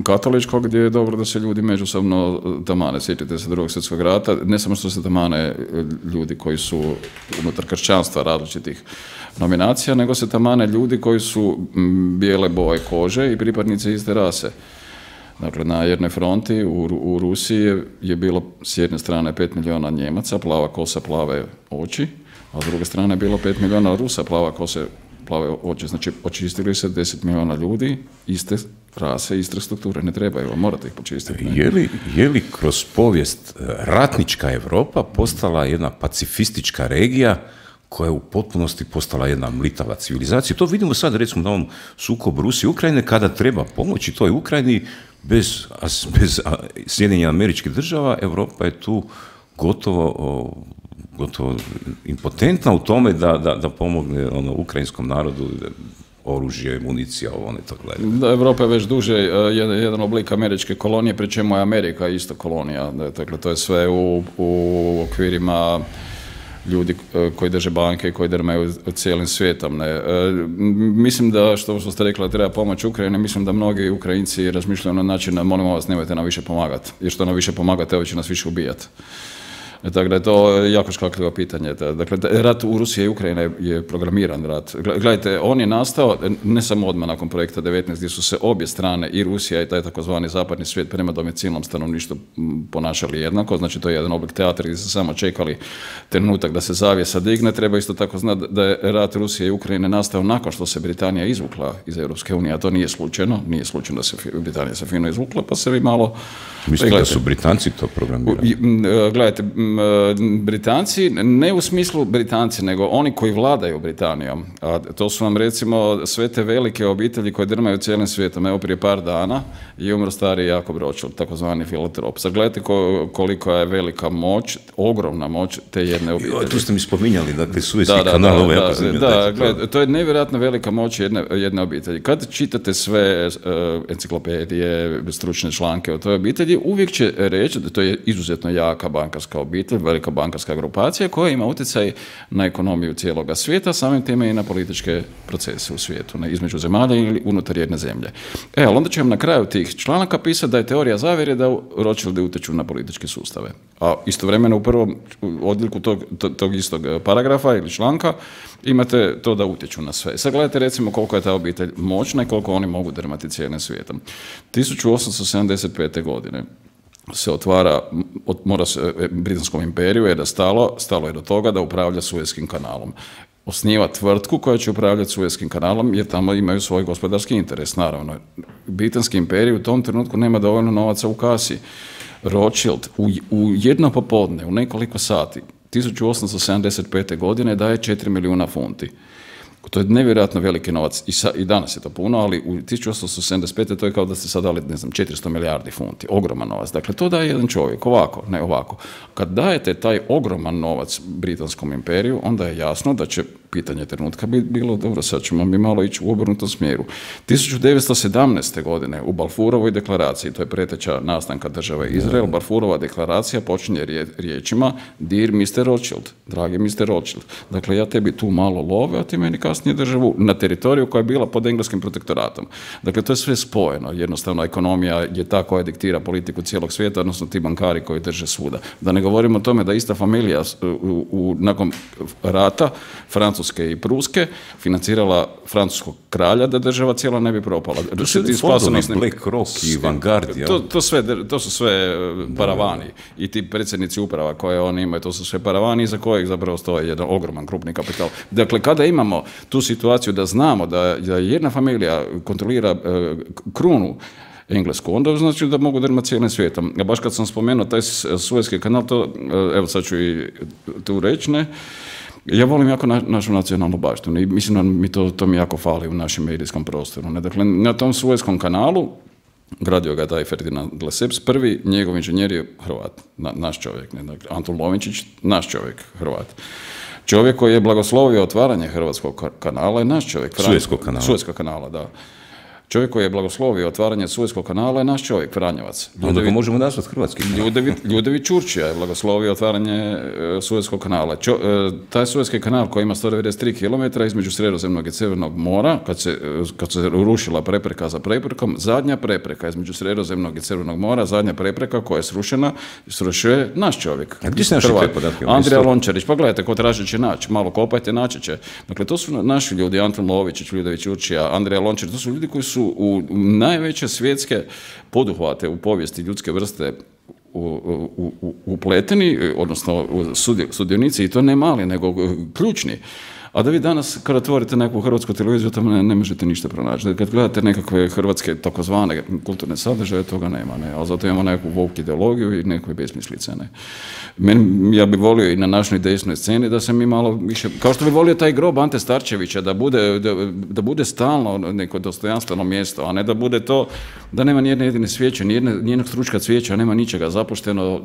S2: katoličkog, gdje je dobro da se ljudi međusobno tamane. Sjetite se drugog svjetskog rata, ne samo što se tamane ljudi koji su unutar kršćanstva različitih nominacija, nego se tamane ljudi koji su bijele boje kože i pripadnici iste rase. Dakle, na jednoj fronti u, u Rusiji je, je bilo s jedne strane pet milijuna Njemaca, plava kosa, plave oči, a s druge strane je bilo pet milijuna Rusa, plava kose, plave oči. Znači, očistili se deset milijuna ljudi, iste rase, iste strukture, ne trebaju, morate ih počistiti. Ne?
S1: Je li, je li kroz povijest ratnička Europa postala jedna pacifistička regija koja je u potpunosti postala jedna mlitava civilizacija? To vidimo sad, recimo, na ovom sukobu Rusije i Ukrajine, kada treba pomoći toj Ukrajini, bez, bez Sjedinjenih Američkih Država, Europa je tu gotovo, gotovo impotentna u tome da, da, da pomogne ono, ukrajinskom narodu, oružje, municija, ovo ne to gledaju.
S2: Da, Evropa je već duže jedan, jedan oblik američke kolonije, pri čemu je Amerika isto kolonija. Dakle, to je sve u, u okvirima ljudi koji drže banke i koji drmaju cijelim svijetom. Ne. E, mislim da, što, što ste rekli, da treba pomoć Ukrajini, mislim da mnogi Ukrajinci razmišljaju na način da molimo vas, nemojte nam više pomagati, jer što nam više pomagate, ovo će nas više ubijati. E, tako da je to jako škakljivo pitanje. Dakle, rat u Rusiji i Ukrajini je programiran rat. Gledajte, on je nastao ne samo odmah nakon projekta devetnaest, gdje su se obje strane, i Rusija i taj takozvani zapadni svijet, prema domicilnom stanovništvu ponašali jednako. Znači, to je jedan oblik teatra gdje su samo čekali trenutak da se zavjesa digne. Treba isto tako znati da je rat Rusije i Ukrajine nastao nakon što se Britanija izvukla iz Europske unije, a to nije slučajno. Nije slučajno da se Britanija se fino izvukla, pa se vi malo...
S1: Mislite da su Britanci to programirali?
S2: Gledajte, Britanci, ne u smislu Britanci, nego oni koji vladaju Britanijom. A to su vam, recimo, sve te velike obitelji koje drmaju cijelim svijetom. Evo, prije par dana je umro stari Jakob Rothschild, takozvani filantrop. Sad gledajte koliko je velika moć, ogromna moć te jedne obitelji.
S1: Jo, tu ste mi spominjali, dakle, Suezki kanal, ovo ja
S2: poznam. Da, da, gledajte, to je nevjerojatno velika moć jedne, jedne obitelji. Kad čitate sve uh, enciklopedije, stručne članke o toj obitelji, uvijek će reći da to je izuzetno jaka bankarska obitelj, velika bankarska grupacija koja ima utjecaj na ekonomiju cijeloga svijeta, samim time i na političke procese u svijetu, ne, između zemalja ili unutar jedne zemlje. E, ali onda će vam na kraju tih članaka pisati da je teorija zavjere da Rothschildi utječu na političke sustave. A istovremeno u prvom odjeljku tog, tog istog paragrafa ili članka imate to da utječu na sve. Sad gledajte, recimo, koliko je ta obitelj moćna i koliko oni mogu drmati cijelim svijetom. tisuću osamsto sedamdeset pete. godine se otvara, mora se, Britanskom imperiju je da stalo, stalo je do toga da upravlja Suezkim kanalom. Osniva tvrtku koja će upravljati Suezkim kanalom jer tamo imaju svoj gospodarski interes, naravno. Britanski imperij u tom trenutku nema dovoljno novaca u kasi. Rothschild u, u jedno popodne, u nekoliko sati, tisuću osamsto sedamdeset pete. godine daje četiri milijuna funti. To je nevjerojatno veliki novac i, sa, i danas je to puno, ali u tisuću osamsto sedamdeset pete. to je kao da ste sad dali, ne znam, četiristo milijardi funti, ogroman novac. Dakle, to daje jedan čovjek, ovako, ne ovako. Kad dajete taj ogroman novac Britanskom imperiju, onda je jasno da će pitanje trenutka bi bilo, dobro, sad ćemo mi malo ići u obrnutom smjeru. tisuću devetsto sedamnaeste. godine u Balfourovoj deklaraciji, to je preteča nastanka države Izrael, Balfourova deklaracija počinje rije, riječima Dear mister Rothschild, dragi mister Rothschild, dakle ja tebi tu malo love, a ti meni kasnije državu na teritoriju koja je bila pod engleskim protektoratom. Dakle, to je sve spojeno. Jednostavno, ekonomija je ta koja diktira politiku cijelog svijeta, odnosno ti bankari koji drže svuda. Da ne govorimo o tome da ista familija u, u, nakon rata Francuske i Pruske financirala francuskog kralja da država cijela ne bi propala.
S1: To su ti fondovi, Black Rock i Vanguard.
S2: To, to, sve, to su sve paravani i ti predsjednici uprava koje oni imaju, to su sve paravani iza kojeg zapravo stoji jedan ogroman krupni kapital. Dakle, kada imamo tu situaciju da znamo da, da jedna familija kontrolira uh, krunu englesku, onda znači da mogu drmati cijelim svijetom. A baš kad sam spomenuo taj Suezki kanal, to, uh, evo sad ću i tu reći, ne, ja volim jako na, našu nacionalnu baštinu i mislim da mi to, to mi jako fali u našem medijskom prostoru. Ne? Dakle, na tom Suezkom kanalu gradio ga taj Ferdinand Lesseps, prvi njegov inženjer je Hrvat, na, naš čovjek, ne? Dakle, Antun Lovinčić, naš čovjek, Hrvat. Čovjek koji je blagoslovio otvaranje Hrvatskog kanala je naš čovjek.
S1: Suezkog kanala.
S2: Suezkog kanala, da. Čovjek koji je blagoslovio otvaranje Suezkog kanala je naš čovjek, Franjevac.
S1: Onda ga možemo nazvati hrvatski.
S2: Ljudevi Ćurčija je blagoslovio otvaranje Suezkog kanala. Čo, taj Suezki kanal koji ima sto devedeset tri kilometra između Sredozemnog i Crvenog mora, kad se, kad se rušila prepreka za preprekom, zadnja prepreka između Sredozemnog i Crvenog mora, zadnja prepreka koja je srušena, srušio je naš čovjek.
S1: A gdje se naši te podatke?
S2: Andrija Lončarić, pa gledajte, ko traži će naći, malo kopajte, naći će. Dakle, to su naši ljudi, Antun Lovičić, Ljudevi Ćurčija, Andrija Lončarić, to su ljudi koji su u najveće svjetske poduhvate u povijesti ljudske vrste upleteni, odnosno sudionici, i to ne mali, nego ključni. A da vi danas, kada otvorite neku hrvatsku televiziju, tamo ne, ne možete ništa pronaći. Kad gledate nekakve hrvatske takozvane kulturne sadržaje, toga nema. Ne? Ali zato imamo neku woke ideologiju i nekoj besmislice. Ne? Men, ja bih volio i na našoj desnoj sceni da se mi malo više... Kao što bih volio taj grob Ante Starčevića, da bude, da, da bude stalno neko dostojanstveno mjesto, a ne da bude to da nema nijedne jedine svijeće, nijedne, nijednog stručka cvijeća, nema ničega, zapušteno,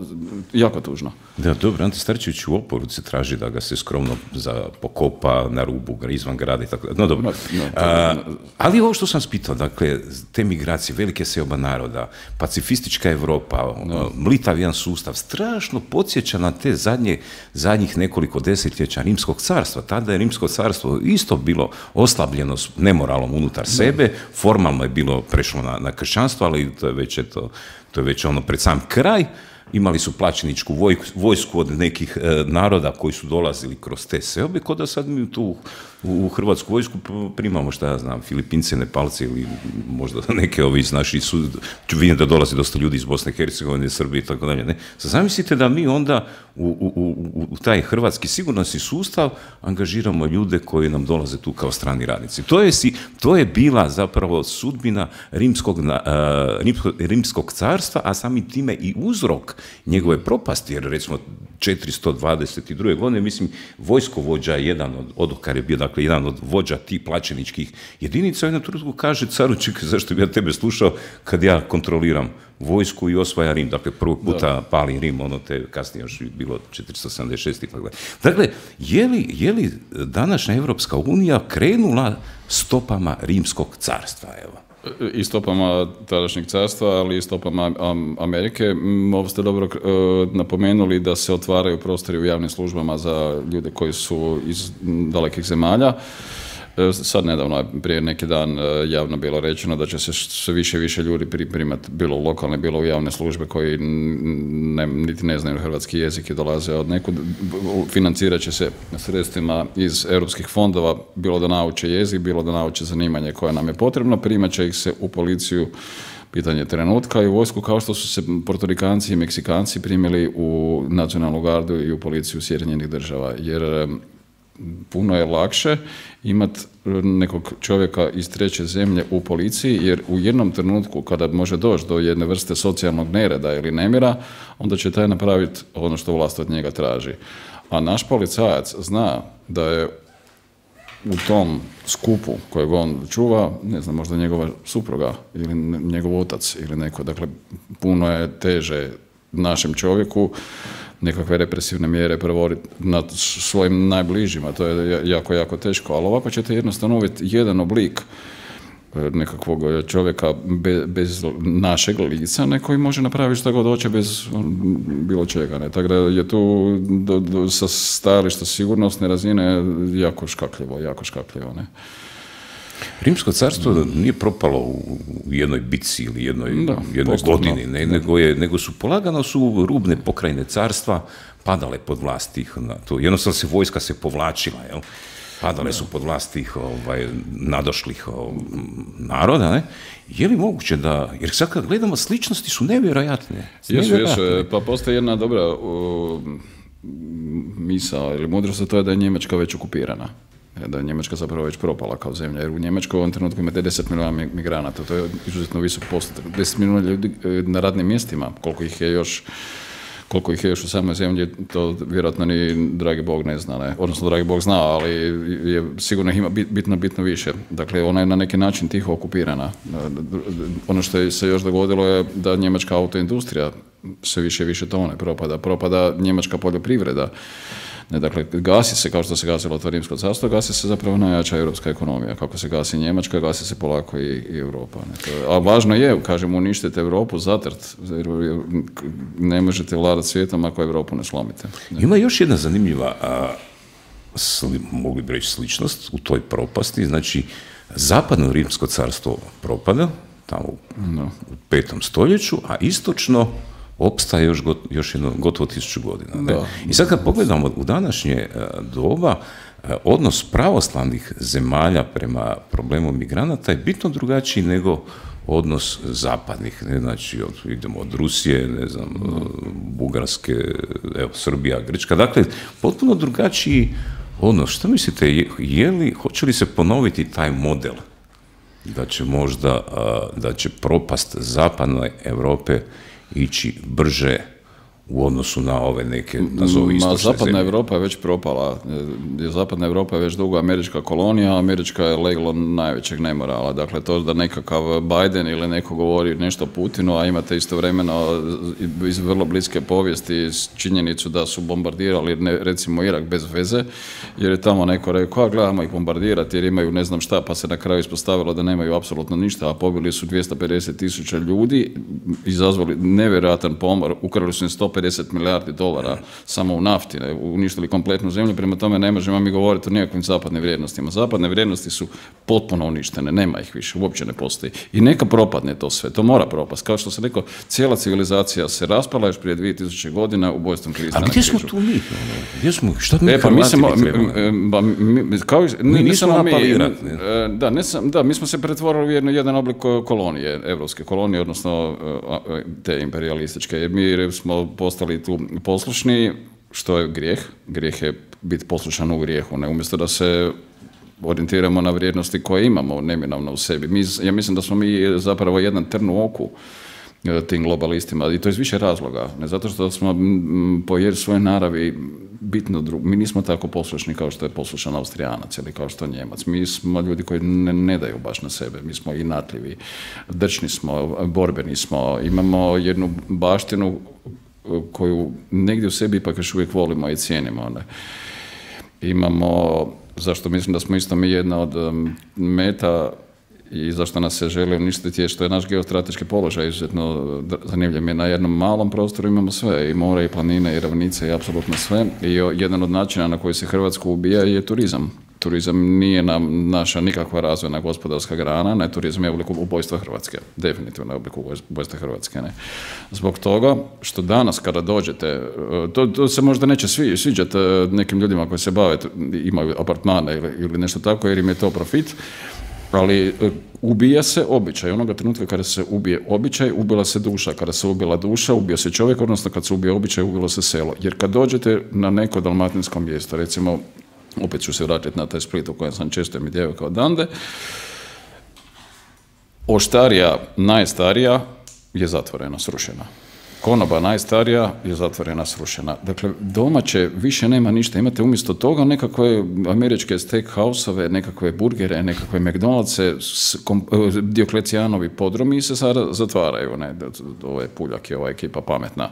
S2: jako tužno.
S1: Da, dobro, Ante Starčević u oporuci traži da ga se skromno za pokopa na rubu, izvan grada i tako da. No dobro. No, no, A, ali ovo što sam spitao, dakle, te migracije, velike seoba naroda, pacifistička Europa, no. mlitav jedan sustav, strašno podsjeća na te zadnje, zadnjih nekoliko desetljeća Rimskog carstva. Tada je Rimsko carstvo isto bilo oslabljeno s nemoralom unutar no. sebe, formalno je bilo prešlo na, na kršćanstvo, ali to je već, eto, to je već ono pred sam kraj. Imali su plaćeničku vojsku od nekih e, naroda koji su dolazili kroz te seobe, kod da sad mi tu u, u hrvatsku vojsku primamo, šta ja znam, Filipince, Nepalce ili možda neke ovi iz naših sud... Vidim da dolazi dosta ljudi iz Bosne i Hercegovine, Srbije i tako dalje. Ne? Zamislite da mi onda u, u, u, u taj hrvatski sigurnosni sustav angažiramo ljude koji nam dolaze tu kao strani radnici. To je, si, to je bila zapravo sudbina rimskog, uh, rimskog, rimskog carstva, a samim time i uzrok njegove propasti, jer recimo četiristo dvadeset druge godine, mislim, vojskovođa je jedan od, odokar je bio, dakle, jedan od vođa tih plaćeničkih jedinica, u jednom trenutku kaže caru, čekaj, zašto bi ja tebe slušao kad ja kontroliram vojsku i osvaja Rim, dakle, prvog puta da. pali Rim, ono te kasnije još bilo četiristo sedamdeset šest. Dakle, je li, je li današnja Evropska unija krenula stopama Rimskog carstva, evo?
S2: I stopama tadašnjeg carstva, ali i stopama Amerike. Ovo ste dobro napomenuli da se otvaraju prostori u javnim službama za ljude koji su iz dalekih zemalja. Sad nedavno je prije neki dan javno bilo rečeno da će se sve više i više ljudi primati bilo u lokalne, bilo u javne službe koji ne, niti ne znaju hrvatski jezik i dolaze od nekud. Financirat će se sredstvima iz europskih fondova, bilo da nauče jezik, bilo da nauče zanimanje koje nam je potrebno. Primat će ih se u policiju, pitanje trenutka i vojsku kao što su se Portorikanci i Meksikanci primili u nacionalnu gardu i u policiju Sjedinjenih država, jer puno je lakše imati nekog čovjeka iz treće zemlje u policiji, jer u jednom trenutku kada može doći do jedne vrste socijalnog nereda ili nemira, onda će taj napraviti ono što vlast od njega traži. A naš policajac zna da je u tom skupu kojeg on čuva, ne znam, možda njegova supruga ili njegov otac ili neko. Dakle, puno je teže našem čovjeku nekakve represivne mjere provoditi nad svojim najbližima. To je jako, jako teško. Ali ovako ćete jednostavno uvesti jedan oblik nekakvog čovjeka bez, bez našeg lica, neko i može napraviti što god hoće bez bilo čega. Ne? Tako da je tu do, do, sa stajališta sigurnosne razine jako škakljivo, jako škakljivo. Ne?
S1: Rimsko carstvo nije propalo u jednoj bitci ili jednoj,
S2: da,
S1: jednoj godini, ne,
S2: da.
S1: nego, je, nego su polagano su rubne pokrajine carstva padale pod vlast tih, na to. Jednostavno se vojska se povlačila, jel? Padale su pod vlast tih ovaj, nadošlih ovaj, naroda, ne? Je li moguće da, jer sad kad gledamo sličnosti su nevjerojatne.
S2: Jesu, jesu, pa postoji jedna dobra uh, misao ili mudrost, to je da je Njemačka već okupirana. Da je Njemačka zapravo već propala kao zemlja, jer u Njemačkoj u ovom trenutku imate deset milijuna migranata, to je izuzetno visok postotak. deset milijuna ljudi na radnim mjestima, koliko ih je još koliko ih je još u samoj zemlji, to vjerojatno ni dragi Bog ne zna, ne? Odnosno dragi Bog zna, ali je, sigurno ima bitno, bitno više. Dakle, ona je na neki način tiho okupirana. Ono što je se još dogodilo je da njemačka autoindustrija sve više i više tone propada. Propada njemačka poljoprivreda. Ne, dakle, gasi se, kao što se gasilo to Rimsko carstvo, gasi se zapravo najjača europska ekonomija. Kako se gasi Njemačka, gasi se polako i, i Europa. Ne. To, a važno je, kažemo, uništite Europu, zatrt, jer ne možete vladati svijetom ako Europu ne slomite. Ne.
S1: Ima još jedna zanimljiva, a, sli, mogli bi reći, sličnost u toj propasti. Znači, zapadno Rimsko carstvo propada, tamo u, no. u petom stoljeću, a istočno opstaje još, got, još jedno gotovo tisuću godina. Ne? I sad kad pogledamo u današnje doba, odnos pravoslavnih zemalja prema problemu migranata je bitno drugačiji nego odnos zapadnih. Ne? Znači, od, idemo od Rusije, ne znam, no. Bugarske, evo, Srbija, Grčka. Dakle, potpuno drugačiji odnos. Što mislite, je, je li, hoće li se ponoviti taj model da će možda, da će propast zapadne Europe ići brže u odnosu na ove neke, nazovi istočne zemlje?
S2: Zapadna Europa je već propala. Zapadna Europa je već dugo američka kolonija, Američka je leglo najvećeg nemorala. Dakle, to da nekakav Biden ili neko govori nešto Putinu, a imate istovremeno iz vrlo bliske povijesti činjenicu da su bombardirali, ne, recimo, Irak bez veze, jer je tamo neko rekao, a gledamo ih bombardirati jer imaju ne znam šta, pa se na kraju ispostavilo da nemaju apsolutno ništa, a pobili su dvjesto pedeset tisuća ljudi, izazvali nevjerojatan pomor, ukrali su im sto pedeset milijardi dolara samo u nafti, ne, uništili kompletnu zemlju, prema tome ne možemo mi govoriti o nikakvim zapadnim vrijednostima. Zapadne vrijednosti su potpuno uništene, nema ih više, uopće ne postoji. I neka propadne to sve, to mora propast. Kao što sam rekao, cijela civilizacija se raspala još prije dvije tisuće godina ubojstvom Krista na križu.
S1: A gdje smo tu mi? Gdje smo? Šta mi
S2: e, pa mi smo, ba, mi, kao,
S1: mi
S2: ne,
S1: nismo napalirati.
S2: Da, ne sam, da, mi smo se pretvorili u jedno, jedan oblik kolonije, evropske kolonije, odnosno te imperialističke, jer mi smo postali tu poslušni, što je grijeh. Grijeh je biti poslušan u grijehu, ne umjesto da se orijentiramo na vrijednosti koje imamo neminovno u sebi. Mi, ja mislim da smo mi zapravo jedan trn u oku tim globalistima, i to iz više razloga. Ne zato što smo po svojoj naravi bitno drugo. Mi nismo tako poslušni kao što je poslušan Austrijanac ili kao što je Njemac. Mi smo ljudi koji ne, ne daju baš na sebe. Mi smo inatljivi, drčni smo, borbeni smo. Imamo jednu baštinu koju negdje u sebi ipak još uvijek volimo i cijenimo. Ne? Imamo, zašto mislim da smo isto mi jedna od meta i zašto nas se želi uništiti je što je naš geostrateški položaj izuzetno zanimljiv. Mi na jednom malom prostoru imamo sve, i more, i planine, i ravnice, i apsolutno sve. I jedan od načina na koji se Hrvatsku ubija je turizam. Turizam nije nam naša nikakva razvojna gospodarska grana, ne, turizam je oblik ubojstva Hrvatske, definitivno je oblik ubojstva Hrvatske. Ne. Zbog toga što danas kada dođete, to, to se možda neće svi, sviđati nekim ljudima koji se bave, imaju apartmane ili, ili nešto tako, jer im je to profit, Ali ubija se običaj. Onoga trenutka kada se ubije običaj, ubila se duša. Kada se ubila duša, ubio se čovjek, odnosno kad se ubije običaj, ubilo se selo. Jer kad dođete na neko dalmatinsko mjesto, recimo, opet ću se vratiti na taj Split u kojem sam često mi djevojka odande, oštarija, najstarija, je zatvorena, srušena. Konoba najstarija je zatvorena, srušena. Dakle, domaće više nema ništa. Imate umjesto toga nekakve američke steakhouse-ove, nekakve burgere, nekakve McDonald'se, Dioklecijanovi podromi se sada zatvaraju. Ne? Ovo je Puljak i ova ekipa pametna.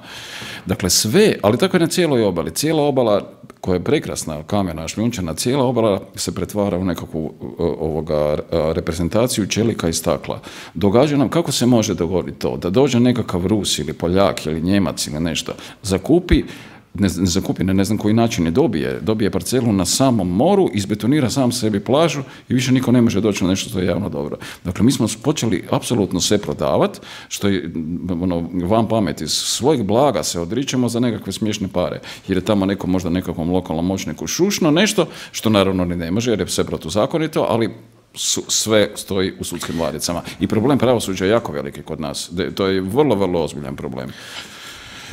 S2: Dakle, sve, ali tako je na cijeloj obali. Cijela obala koja je prekrasna, kamena, šljunčana, cijela obala se pretvara u nekakvu ovoga, reprezentaciju čelika i stakla. Događa nam, kako se može dogoditi to? Da dođe nekakav Rus ili Poljak ili Njemac ili nešto, zakupi, ne, ne zakupi, ne, ne znam koji način je dobije, dobije parcelu na samom moru, izbetonira sam sebi plažu i više niko ne može doći na nešto što je javno dobro. Dakle, mi smo počeli apsolutno sve prodavati, što je ono, van pameti, svojeg blaga se odričemo za nekakve smiješne pare, jer je tamo neko možda nekakvom lokalnom moćniku šušno nešto, što naravno ni ne može, jer je sve protuzakonito, ali Su, sve stoji u sudskim ladicama. I problem pravosuđa je jako veliki kod nas. De, to je vrlo, vrlo ozbiljan problem.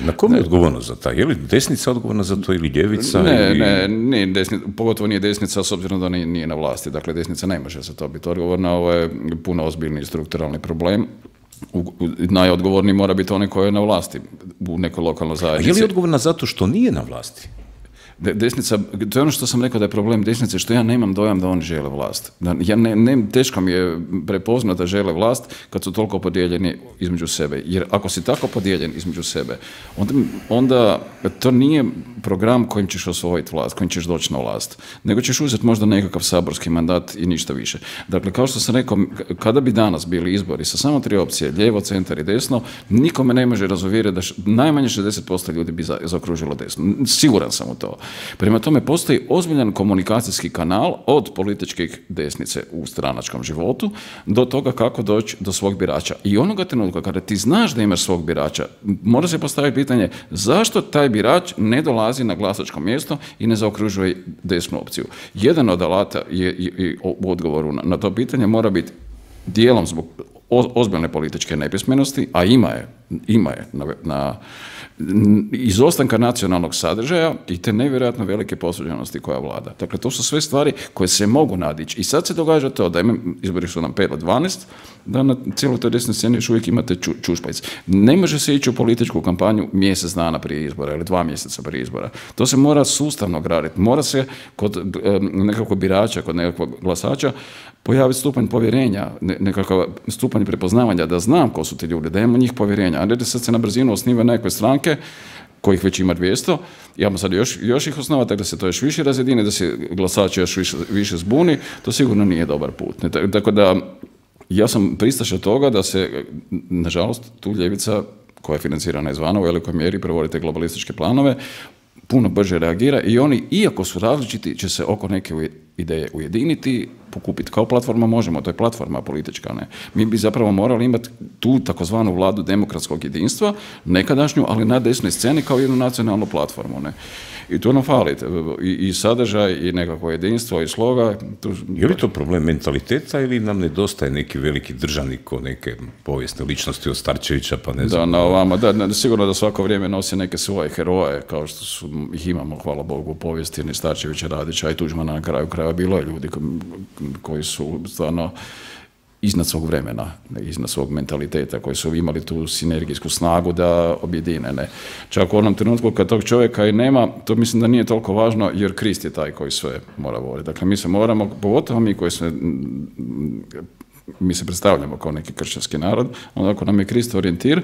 S1: Na kom je odgovornost za to? Je li desnica odgovorna za to ili ljevica?
S2: Ne,
S1: ili...
S2: ne, nije desnica, pogotovo nije desnica s obzirom da nije, nije na vlasti. Dakle, desnica ne može za to biti odgovorna. Ovo je puno ozbiljni strukturalni problem. U, u, najodgovorniji mora biti onaj koji je na vlasti u nekoj lokalnoj zajednici.
S1: A je li odgovorna zato što nije na vlasti?
S2: Desnica, to je ono što sam rekao da je problem desnice, što ja nemam dojam da oni žele vlast. Da, ja ne, ne, teško mi je prepoznati da žele vlast kad su toliko podijeljeni između sebe. Jer ako si tako podijeljen između sebe, onda, onda to nije program kojim ćeš osvojiti vlast, kojim ćeš doći na vlast, nego ćeš uzeti možda nekakav saborski mandat i ništa više. Dakle, kao što sam rekao, kada bi danas bili izbori sa samo tri opcije, lijevo, centar i desno, nikome ne može razuvjeriti da š, najmanje šezdeset posto ljudi bi za, zaokružilo desno. Siguran sam u to. Prema tome, postoji ozbiljan komunikacijski kanal od političkih desnice u stranačkom životu do toga kako doći do svog birača. I onoga trenutka kada ti znaš da imaš svog birača, mora se postaviti pitanje zašto taj birač ne dolazi na glasačko mjesto i ne zaokružuje desnu opciju. Jedan od alata je, je, u odgovoru na, na to pitanje mora biti dijelom zbog ozbiljne političke nepismenosti, a ima je, ima je na, na izostanka nacionalnog sadržaja i te nevjerojatno velike posuđenosti koja vlada. Dakle, to su sve stvari koje se mogu nadići. I sad se događa to da imam, izbori su nam pet od dvanaest, da na cijeloj toj desnoj sceni još uvijek imate ču, čušpajc. Ne može se ići u političku kampanju mjesec dana prije izbora ili dva mjeseca prije izbora. To se mora sustavno graditi. Mora se kod e, nekakvog birača, kod nekakvog glasača pojaviti stupanj povjerenja, ne, nekakav stupanj prepoznavanja, da znam ko su ti ljudi, da imamo njih povjerenja, a ne da sad se na brzinu osniva nekakve stranke kojih već ima dvjesto, imamo sad još, još ih osnovati, tako da se to još više razjedine, da se glasači još više, više zbuni, to sigurno nije dobar put. Ne, tako da ja sam pristaša toga da se, nažalost, tu ljevica koja je financirana izvana u velikoj mjeri provodi te globalističke planove, puno brže reagira i oni, iako su različiti, će se oko neke ideje ujediniti, pokupiti. Kao platforma možemo, to je platforma politička. Ne? Mi bi zapravo morali imati tu takozvanu vladu demokratskog jedinstva, nekadašnju, ali na desnoj sceni kao jednu nacionalnu platformu. Ne? I tu nam fali I, i sadržaj, i nekako jedinstvo, i sloga. Tu...
S1: Je li to problem mentaliteta ili nam nedostaje neki veliki državnik ko neke povijesne ličnosti od Starčevića, pa ne znam.
S2: Da, na ovama, da, ne, sigurno da svako vrijeme nosi neke svoje heroje, kao što su, ih imamo, hvala Bogu, u povijesti, ni Starčevića, Radića i Tuđmana na kraju kraja. Bilo je ljudi koji su stvarno iznad svog vremena, iznad svog mentaliteta, koji su imali tu sinergijsku snagu da objedine. Ne. Čak u onom trenutku kad tog čovjeka i nema, to mislim da nije toliko važno, jer Krist je taj koji sve mora voditi. Dakle, mi se moramo, pogotovo mi koji se, mi se predstavljamo kao neki kršćanski narod, onda ako nam je Krist orijentir,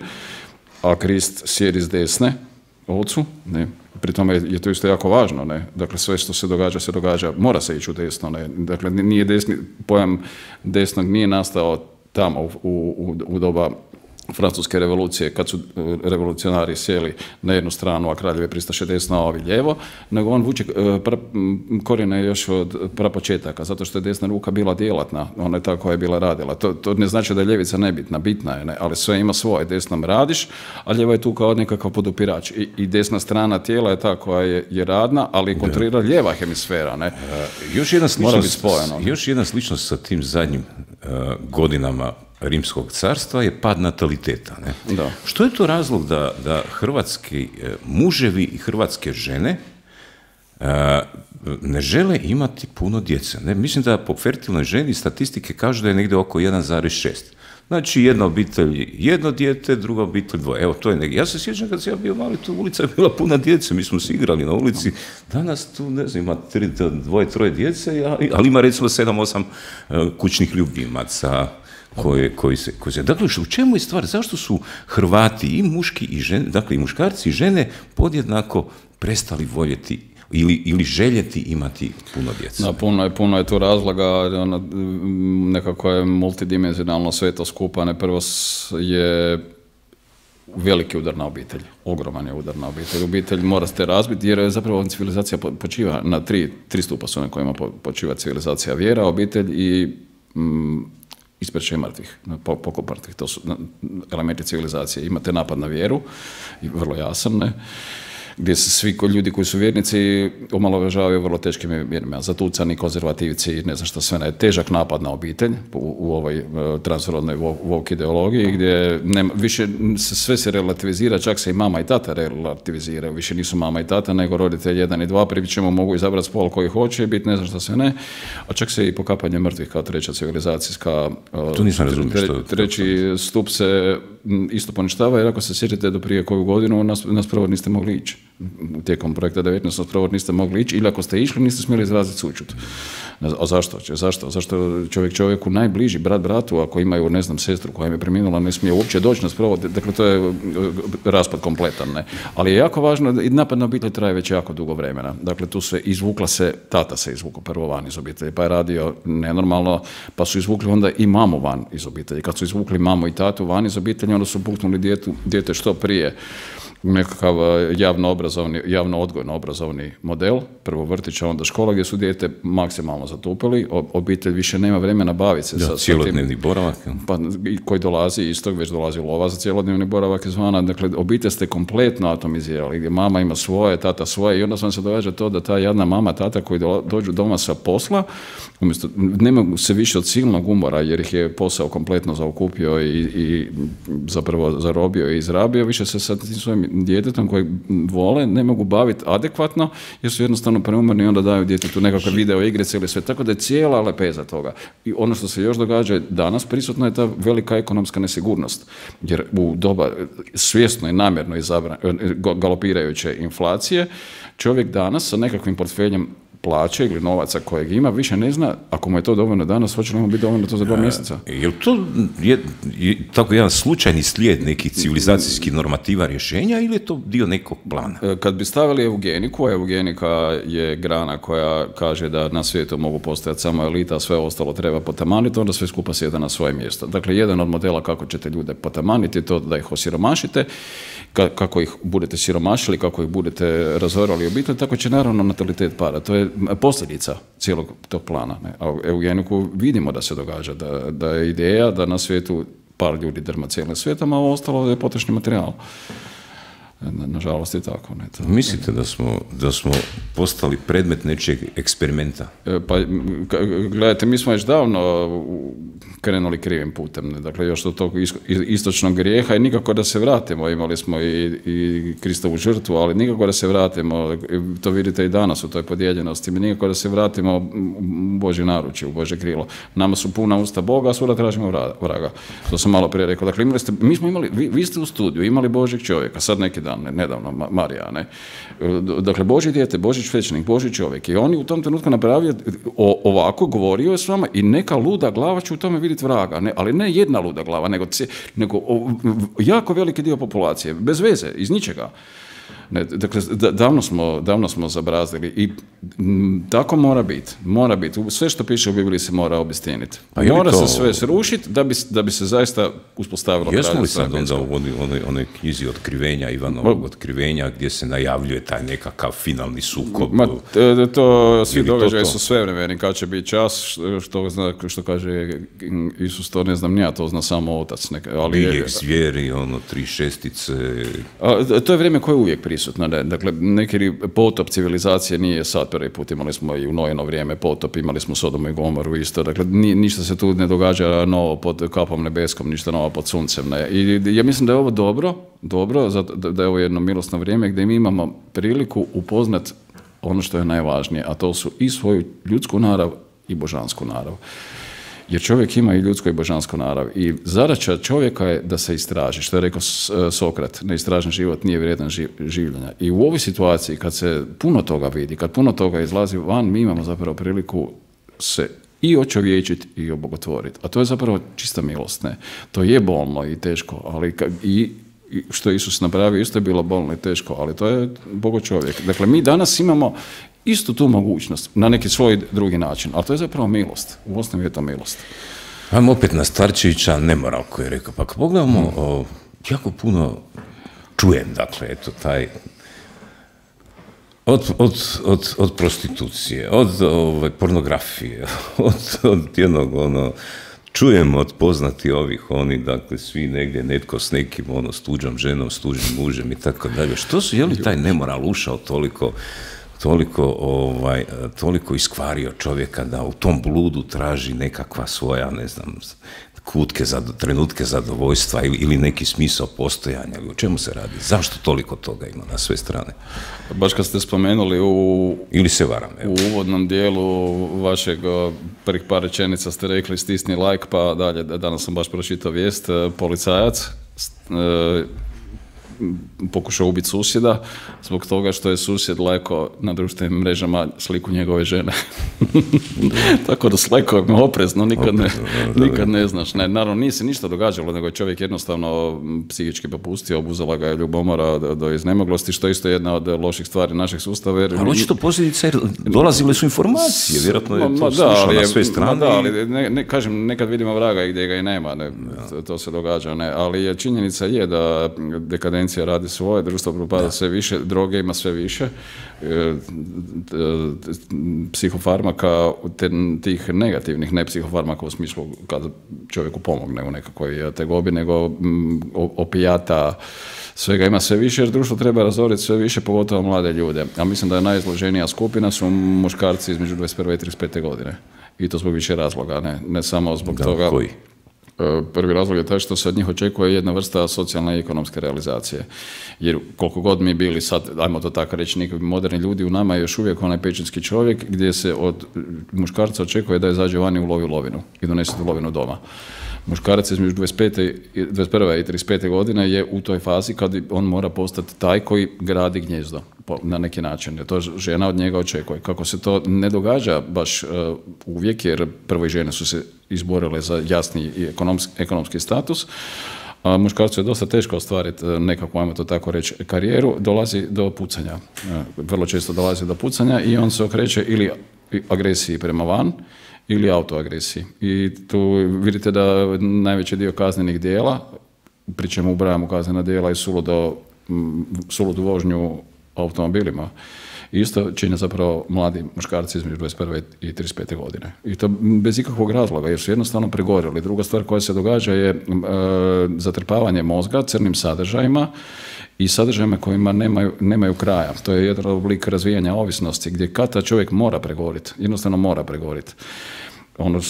S2: a Krist sjedi s desne, ocu, ne, pri tome je to isto jako važno, ne, dakle sve što se događa, se događa, mora se ići u desno, ne, dakle nije desni, pojam desnog nije nastao tamo u, u, u doba Francuske revolucije, kad su revolucionari sjeli na jednu stranu, a kraljevi pristaše desno, a ovi lijevo, nego on vuče pra, korijene još od prapočetaka, zato što je desna ruka bila djelatna, ona je ta koja je bila radila. To, to ne znači da je ljevica nebitna, bitna je, ne? Ali sve ima svoje, desnom radiš, a lijeva je tu kao nekakav podupirač. I, i desna strana tijela je ta koja je, je radna, ali kontrolira lijeva hemisfera. Ne?
S1: Uh, još, jedna sličnost, još jedna sličnost sa tim zadnjim uh, godinama Rimskog carstva je pad nataliteta. Ne?
S2: Da.
S1: Što je to razlog da, da hrvatski muževi i hrvatske žene uh, ne žele imati puno djece? Ne? Mislim da po fertilnoj ženi statistike kažu da je negdje oko jedan zarez šest. Znači, jedna obitelj jedno dijete, druga obitelj dvoje. Evo, to je negdje. Ja se sjećam kad sam ja bio mali, tu ulica je bila puna djece, mi smo se igrali na ulici. Danas tu, ne znam, ima tri, dvoje, troje djece, ali ima recimo sedam, osam kućnih ljubimaca koje, koji se... Koji se... Dakle, u čemu je stvar? Zašto su Hrvati i muški i žene, dakle i muškarci i žene podjednako prestali voljeti Ili, ili željeti imati puno djece?
S2: Da, puno je, puno je tu razloga, ona, nekako je multidimenzionalno sve to skupa. Ne, prvo je veliki udar na obitelj, ogroman je udar na obitelj. Obitelj mora se razbiti jer je zapravo civilizacija počiva na tri, tri stupa su na kojima počiva civilizacija: vjera, obitelj i mm, isprečaj mrtvih, pokop mrtvih. To su elementi civilizacije. Imate napad na vjeru, vrlo jasan, ne? Gdje se svi ljudi koji su vjernici omalovažavaju vrlo teškim mjerima, zatucani, konzervativci, ne znam što sve, ne, težak napad na obitelj u, u ovoj transrodnoj woke ideologiji, gdje nema, više se, sve se relativizira, čak se i mama i tata relativiziraju, više nisu mama i tata, nego roditelj jedan i dva, pri čemu mogu izabrati spol koji hoće biti, ne znam što sve ne, a čak se i pokapanje mrtvih kao treća civilizacijska,
S1: to nisam razumio
S2: tre,
S1: što,
S2: treći stup se isto poništava, jer ako se sjećate do prije koju godinu, nas, nas prvo niste mogli ići. Tijekom projekta devetnaest nas prvo niste mogli ići, ili ako ste išli, niste smjeli izraziti sućut. A zašto? Zašto? Zašto čovjek čovjeku najbliži, brat bratu, ako imaju, ne znam, sestru koja im je preminula, ne smije uopće doći nas prvo, dakle to je raspad kompletan, ne. Ali je jako važno, i napad na obitelj traje već jako dugo vremena. Dakle, tu se izvukla se, tata se izvukao prvo van iz obitelji, pa je radio nenormalno, pa su izvukli onda i mamu van iz obitelji. Kad su izvukli mamu i tatu van iz obitelji, onda su puknuli djetu, dijete što prije nekakav javno obrazovni, javno odgojno obrazovni model, prvo vrtića, onda škola, gdje su dijete maksimalno zatupili, obitelj više nema vremena baviti se.
S1: Da,
S2: sa
S1: cijelodnevni boravak.
S2: Pa, koji dolazi iz tog, već dolazi lova za cijelodnevni boravak izvana, dakle obitelj ste kompletno atomizirali, gdje mama ima svoje, tata svoje, i onda vam se događa to da ta jedna mama, tata koji dođu doma sa posla, umjesto, nema se više od silnog umora, jer ih je posao kompletno zaokupio i, i zapravo zarobio i izrabio, više se sa tim svojim djetetom koji vole ne mogu baviti adekvatno jer su jednostavno preumorni i onda daju djetetu nekakve video igrice ili sve, tako da je cijela lepeza toga. I ono što se još događa danas, prisutna je ta velika ekonomska nesigurnost, jer u doba svjesno i namjerno izabra, galopirajuće inflacije, čovjek danas sa nekakvim portfeljem plaće ili novaca kojeg ima, više ne zna, ako mu je to dovoljno danas, hoće li mu biti dovoljno to za dva mjeseca?
S1: Je li to je, je, tako jedan slučajni slijed nekih civilizacijskih normativa rješenja ili je to dio nekog plana?
S2: Kad bi stavili eugeniku, a eugenika je grana koja kaže da na svijetu mogu postojati samo elita, a sve ostalo treba potamaniti, onda sve skupa sjeda na svoje mjesto. Dakle, jedan od modela kako ćete ljude potamaniti je to da ih osiromašite, kako ih budete siromašili, kako ih budete razorali obitelj, tako će naravno natalitet pada. To je posljedica cijelog tog plana. Ne? A u eugeniku vidimo da se događa, da, da je ideja da na svijetu par ljudi drma cijelim svijetom, a ovo ostalo je potrošni materijal. Nažalost je tako. Ne? To...
S1: Mislite da smo, da smo postali predmet nečeg eksperimenta?
S2: Pa, gledajte, mi smo već davno krenuli krivim putem. Ne? Dakle, još do tog istočnog grijeha i nikako da se vratimo. Imali smo i, i Kristovu žrtvu, ali nikako da se vratimo. To vidite i danas u toj podijeljenosti. Mi nikako da se vratimo u Božje naručje, u Božje krilo. Nama su puna usta Boga, a svuda tražimo vraga. To sam malo prije rekao. Dakle, imali ste, mi smo imali, vi, vi ste u studiju imali Božjeg čovjeka, sad neki dan, ne, nedavno, Marija, ne. Dakle, Božje dijete, Božji svećenik, Božji čovjek. I on je u tom trenutku napravio o, ovako, govorio je s vama i neka luda glava će u tome vidjeti vraga. Ne, ali ne jedna luda glava, nego, nego o, jako veliki dio populacije, bez veze, iz ničega. Ne, dakle, davno smo, davno smo zabrazdili i m, tako mora biti. Mora biti. Sve što piše u Bibliji se mora obistiniti.
S1: Pa
S2: mora
S1: to...
S2: se sve srušiti da bi, da bi se zaista uspostavilo.
S1: Jesmo li sad onda u onoj, onoj knjizi otkrivenja, Ivanovog otkrivenja, gdje se najavljuje taj nekakav finalni sukob?
S2: Ma, to, to svi događaji
S1: to to?
S2: su svevremeni, kad će biti čas, što, zna, što kaže Isus, to ne znam, ja to zna samo Otac. Neka, ali
S1: Biljeg zvijeri, ono, tri šestice...
S2: A, to je vrijeme koje je uvijek prisutno. Ne? Dakle, neki potop civilizacije nije sad prvi put. Imali smo i u Nojino vrijeme potop, imali smo Sodomu i Gomoru isto. Dakle, ni, ništa se tu ne događa novo pod kapom nebeskom, ništa novo pod suncem. Ne? I ja mislim da je ovo dobro, dobro, da je ovo jedno milosno vrijeme gdje mi imamo priliku upoznat ono što je najvažnije, a to su i svoju ljudsku narav i božansku narav. Jer čovjek ima i ljudsko i božansko narav. I zadaća čovjeka je da se istraži. Što je rekao Sokrat, neistražen život nije vrijedan življenja. I u ovoj situaciji, kad se puno toga vidi, kad puno toga izlazi van, mi imamo zapravo priliku se i očovječiti i obogotvoriti. A to je zapravo čista milost. Ne? To je bolno i teško, ali i što je Isus napravio, isto je bilo bolno i teško, ali to je Bogo čovjek. Dakle, mi danas imamo istu tu mogućnost, na neki svoj drugi način, ali to je zapravo milost. U osnovi je to milost.
S1: Ajmo opet na Starčevića, nemoral koji je rekao. Pa kad pogledamo, mm. o, jako puno čujem, dakle, eto, taj... Od, od, od, od prostitucije, od ove, pornografije, od, od jednog, ono... Čujem od poznati ovih, oni, dakle, svi negdje, netko s nekim, ono, s tuđom ženom, s tuđim mužem i tako dalje. Što su, je li taj nemoral ušao toliko, toliko, ovaj, toliko iskvario čovjeka da u tom bludu traži nekakva svoja, ne znam, kutke, za, trenutke zadovoljstva ili, ili neki smisao postojanja? O čemu se radi? Zašto toliko toga ima na sve strane?
S2: Baš kad ste spomenuli u,
S1: ili se varam, evo.
S2: U uvodnom dijelu vašeg prvih par rečenica ste rekli stisni like, pa dalje, danas sam baš pročitao vijest, policajac e, pokušao ubiti susjeda zbog toga što je susjed lajko na društvenim mrežama sliku njegove žene. Tako da s lajkovima oprezno, nikad ne, nikad ne znaš. Ne, naravno, nije se ništa događalo, nego je čovjek jednostavno psihički popustio, obuzela ga je ljubomora do, do iznemoglosti, što je isto jedna od loših stvari našeg sustava. Jer...
S1: Ali očito posljedice, jer dolazile su informacije, vjerojatno je to ma, slušao na sve strane.
S2: Da, ali ne, ne, kažem, nekad vidimo vraga i gdje ga i nema, ne, to, to se događa, ne, ali je, činjenica je da dekadencija radi svoje, društvo propada sve više, droge ima sve više, e, psihofarmaka, te, tih negativnih, ne psihofarmaka u smislu kada čovjeku pomogne u nekakvoj tegobi, nego m, opijata, svega ima sve više, jer društvo treba razoriti sve više, pogotovo mlade ljude. A mislim da je najizloženija skupina su muškarci između dvadeset prve i trideset pete godine. I to zbog više razloga, ne, ne samo zbog da, toga...
S1: Koji?
S2: Prvi razlog je taj što se od njih očekuje jedna vrsta socijalne i ekonomske realizacije. Jer koliko god mi bili sad, ajmo to tako reći, nekakvi moderni ljudi, u nama je još uvijek onaj pećinski čovjek gdje se od muškarca očekuje da izađe vani u lovi lovinu i donese tu lovinu doma. Muškarac između dvadeset pete, dvadeset prve i trideset pete godine je u toj fazi kad on mora postati taj koji gradi gnjezdo na neki način. To žena od njega očekuje. Kako se to ne događa baš uh, uvijek, jer prvo i žene su se izborile za jasni i ekonomski, ekonomski status, a muškarcu je dosta teško ostvariti nekakvu, ajmo to tako reći, karijeru, dolazi do pucanja. Vrlo često dolazi do pucanja i on se okreće ili agresiji prema van, ili autoagresiji. I tu vidite da najveći dio kaznenih djela, pri čemu ubrajamo kaznena djela i suludo, suludu vožnju automobilima, isto čine zapravo mladi muškarci između dvadeset prve i trideset pete godine. I to bez ikakvog razloga, jer su jednostavno pregorjeli. Druga stvar koja se događa je e, zatrpavanje mozga crnim sadržajima i sadržajima kojima nemaju, nemaju kraja. To je jedan oblik razvijanja ovisnosti gdje kada čovjek mora pregoriti, jednostavno mora pregoriti. Ono,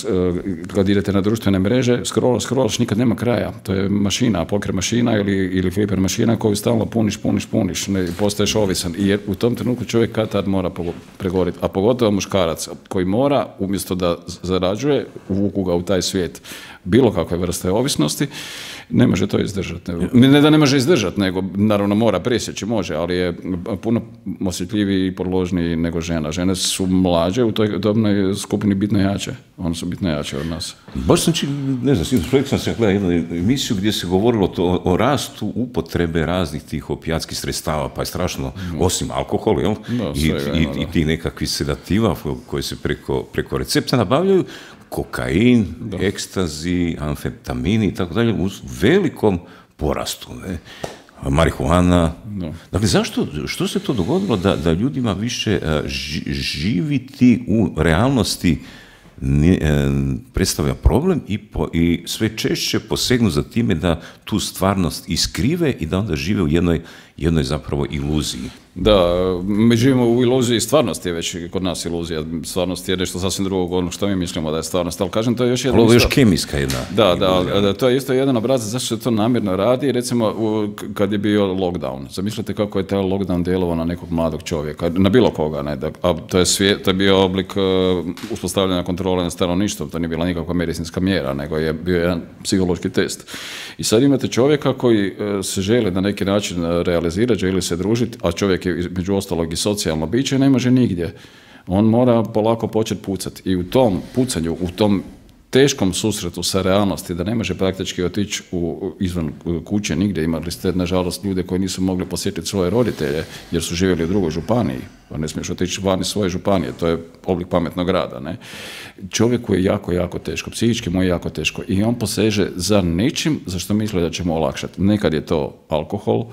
S2: kad idete na društvene mreže, scroll, scrollaš, nikad nema kraja. To je mašina, poker mašina ili, ili fliper mašina koju stalno puniš, puniš, puniš, ne, postaješ ovisan. I u tom trenutku čovjek kad tad mora pregoriti. A pogotovo muškarac koji mora, umjesto da zarađuje, uvuku ga u taj svijet bilo kakve vrste ovisnosti. Ne može to izdržati. Ne da ne može izdržati, nego naravno mora presjeći, može, ali je puno osjetljiviji i podložniji nego žena. Žene su mlađe, u toj dobnoj skupini bitno jače. One su bitno jače od nas.
S1: Baš sam či, ne znam, sinoć projekt sam se gledao jednu emisiju gdje se govorilo to, o rastu upotrebe raznih tih opijatskih sredstava, pa je strašno, mm. osim alkohola, jel?
S2: Da,
S1: I,
S2: svega,
S1: i,
S2: no,
S1: i tih nekakvih sedativa koje se preko, preko recepta nabavljaju, kokain, da. ekstazi, amfetamini i tako dalje, u velikom porastu, ne? Marihuana. Da. Dakle, zašto, što se to dogodilo da, da ljudima više ži, živiti u realnosti ne, predstavlja problem i, po, i sve češće posegnu za time da tu stvarnost iskrive i da onda žive u jednoj, jednoj zapravo iluziji.
S2: Da, mi živimo u iluziji, stvarnost je već kod nas iluzija, stvarnost je nešto sasvim drugog ono što mi mislimo da je stvarnost, ali kažem to je još jedna...
S1: Ali ovo je još kemijska jedna.
S2: Da, da, da, to je isto jedan obrazac zašto se to namjerno radi, recimo u, kad je bio lockdown, zamislite kako je taj lockdown djelovao na nekog mladog čovjeka, na bilo koga, ne, da, a to je, svijet, to je bio oblik uh, uspostavljanja kontrole nad stanovništvom, to nije bila nikakva medicinska mjera, nego je bio jedan psihološki test. I sad imate čovjeka koji uh, se želi na neki način realizirati, želi se družiti, a čovjek je među ostalog i socijalno biće, ne može nigdje. On mora polako početi pucati. I u tom pucanju, u tom teškom susretu sa realnosti, da ne može praktički otići u, izvan kuće nigdje, imali ste nažalost ljude koji nisu mogli posjetiti svoje roditelje jer su živjeli u drugoj županiji, pa ne smiješ otići van iz svoje županije, to je oblik pametnog rada. Ne? Čovjeku je jako, jako teško, psihički mu je jako teško i on poseže za nečim za što misli da će mu olakšati. Nekad je to alkohol,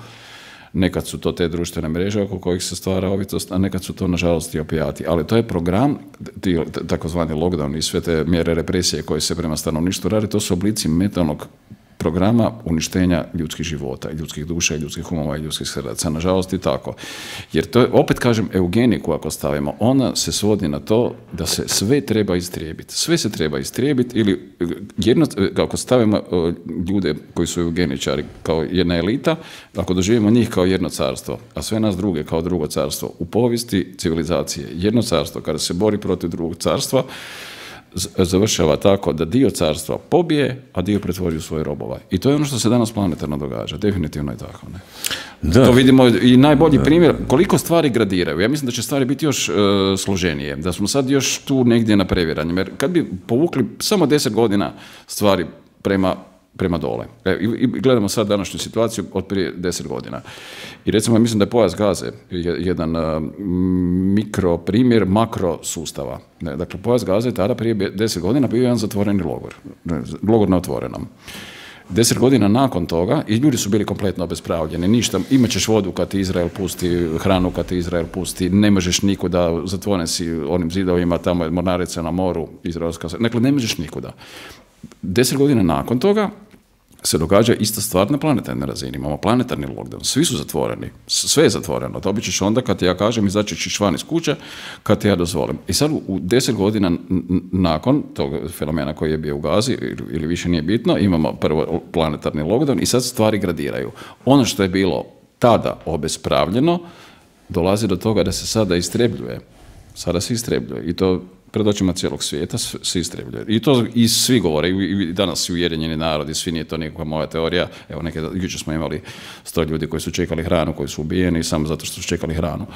S2: nekad su to te društvene mreže oko kojih se stvara ovitost, a nekad su to nažalost i opijati. Ali to je program, ti, takozvani lockdown i sve te mjere represije koje se prema stanovništvu radi, to su oblici mentalnog programa uništenja ljudskih života, ljudskih duša, ljudskih umova i ljudskih srdaca. Nažalost i tako. Jer to je, opet kažem, eugeniku ako stavimo, ona se svodi na to da se sve treba istrijebiti. Sve se treba istrijebiti ili jedno, ako stavimo ljude koji su eugeničari kao jedna elita, ako doživimo njih kao jedno carstvo, a sve nas druge kao drugo carstvo, u povijesti civilizacije, jedno carstvo kada se bori protiv drugog carstva, završava tako da dio carstva pobije, a dio pretvori u svoje robova. I to je ono što se danas planetarno događa. Definitivno je tako. Ne? Da. To vidimo i najbolji da. primjer, koliko stvari gradiraju. Ja mislim da će stvari biti još uh, složenije. Da smo sad još tu negdje na previranju. Jer kad bi povukli samo deset godina stvari prema prema dole. E, i, I gledamo sad današnju situaciju od prije deset godina. I recimo, mislim da je pojas Gaze jedan uh, mikro primjer makro sustava. Ne, dakle, pojas Gaze je tada prije deset godina bio jedan zatvoreni logor. Ne, logor na otvorenom. Deset godina nakon toga i ljudi su bili kompletno obespravljeni. Ništa, imat ćeš vodu kad ti Izrael pusti, hranu kad ti Izrael pusti, ne možeš nikuda, zatvoren si onim zidovima, tamo je mornarica na moru, izraelska. Dakle, ne možeš nikuda. Deset godina nakon toga se događa ista stvar na planetarnoj razini. Imamo planetarni lockdown. Svi su zatvoreni. Sve je zatvoreno. Dobit ćeš onda kad ja kažem izaći ćeš van iz kuće kad ja dozvolim. I sad u deset godina nakon tog fenomena koji je bio u Gazi ili više nije bitno, imamo prvo planetarni lockdown i sad stvari gradiraju. Ono što je bilo tada obespravljeno dolazi do toga da se sada istrebljuje. Sada se istrebljuje. I to pred očima cijelog svijeta se istrebljuje. I to i svi govore, i danas i Ujedinjeni narodi, svi, nije to nikakva moja teorija. Evo, neke, jučer smo imali sto ljudi koji su čekali hranu, koji su ubijeni samo zato što su čekali hranu.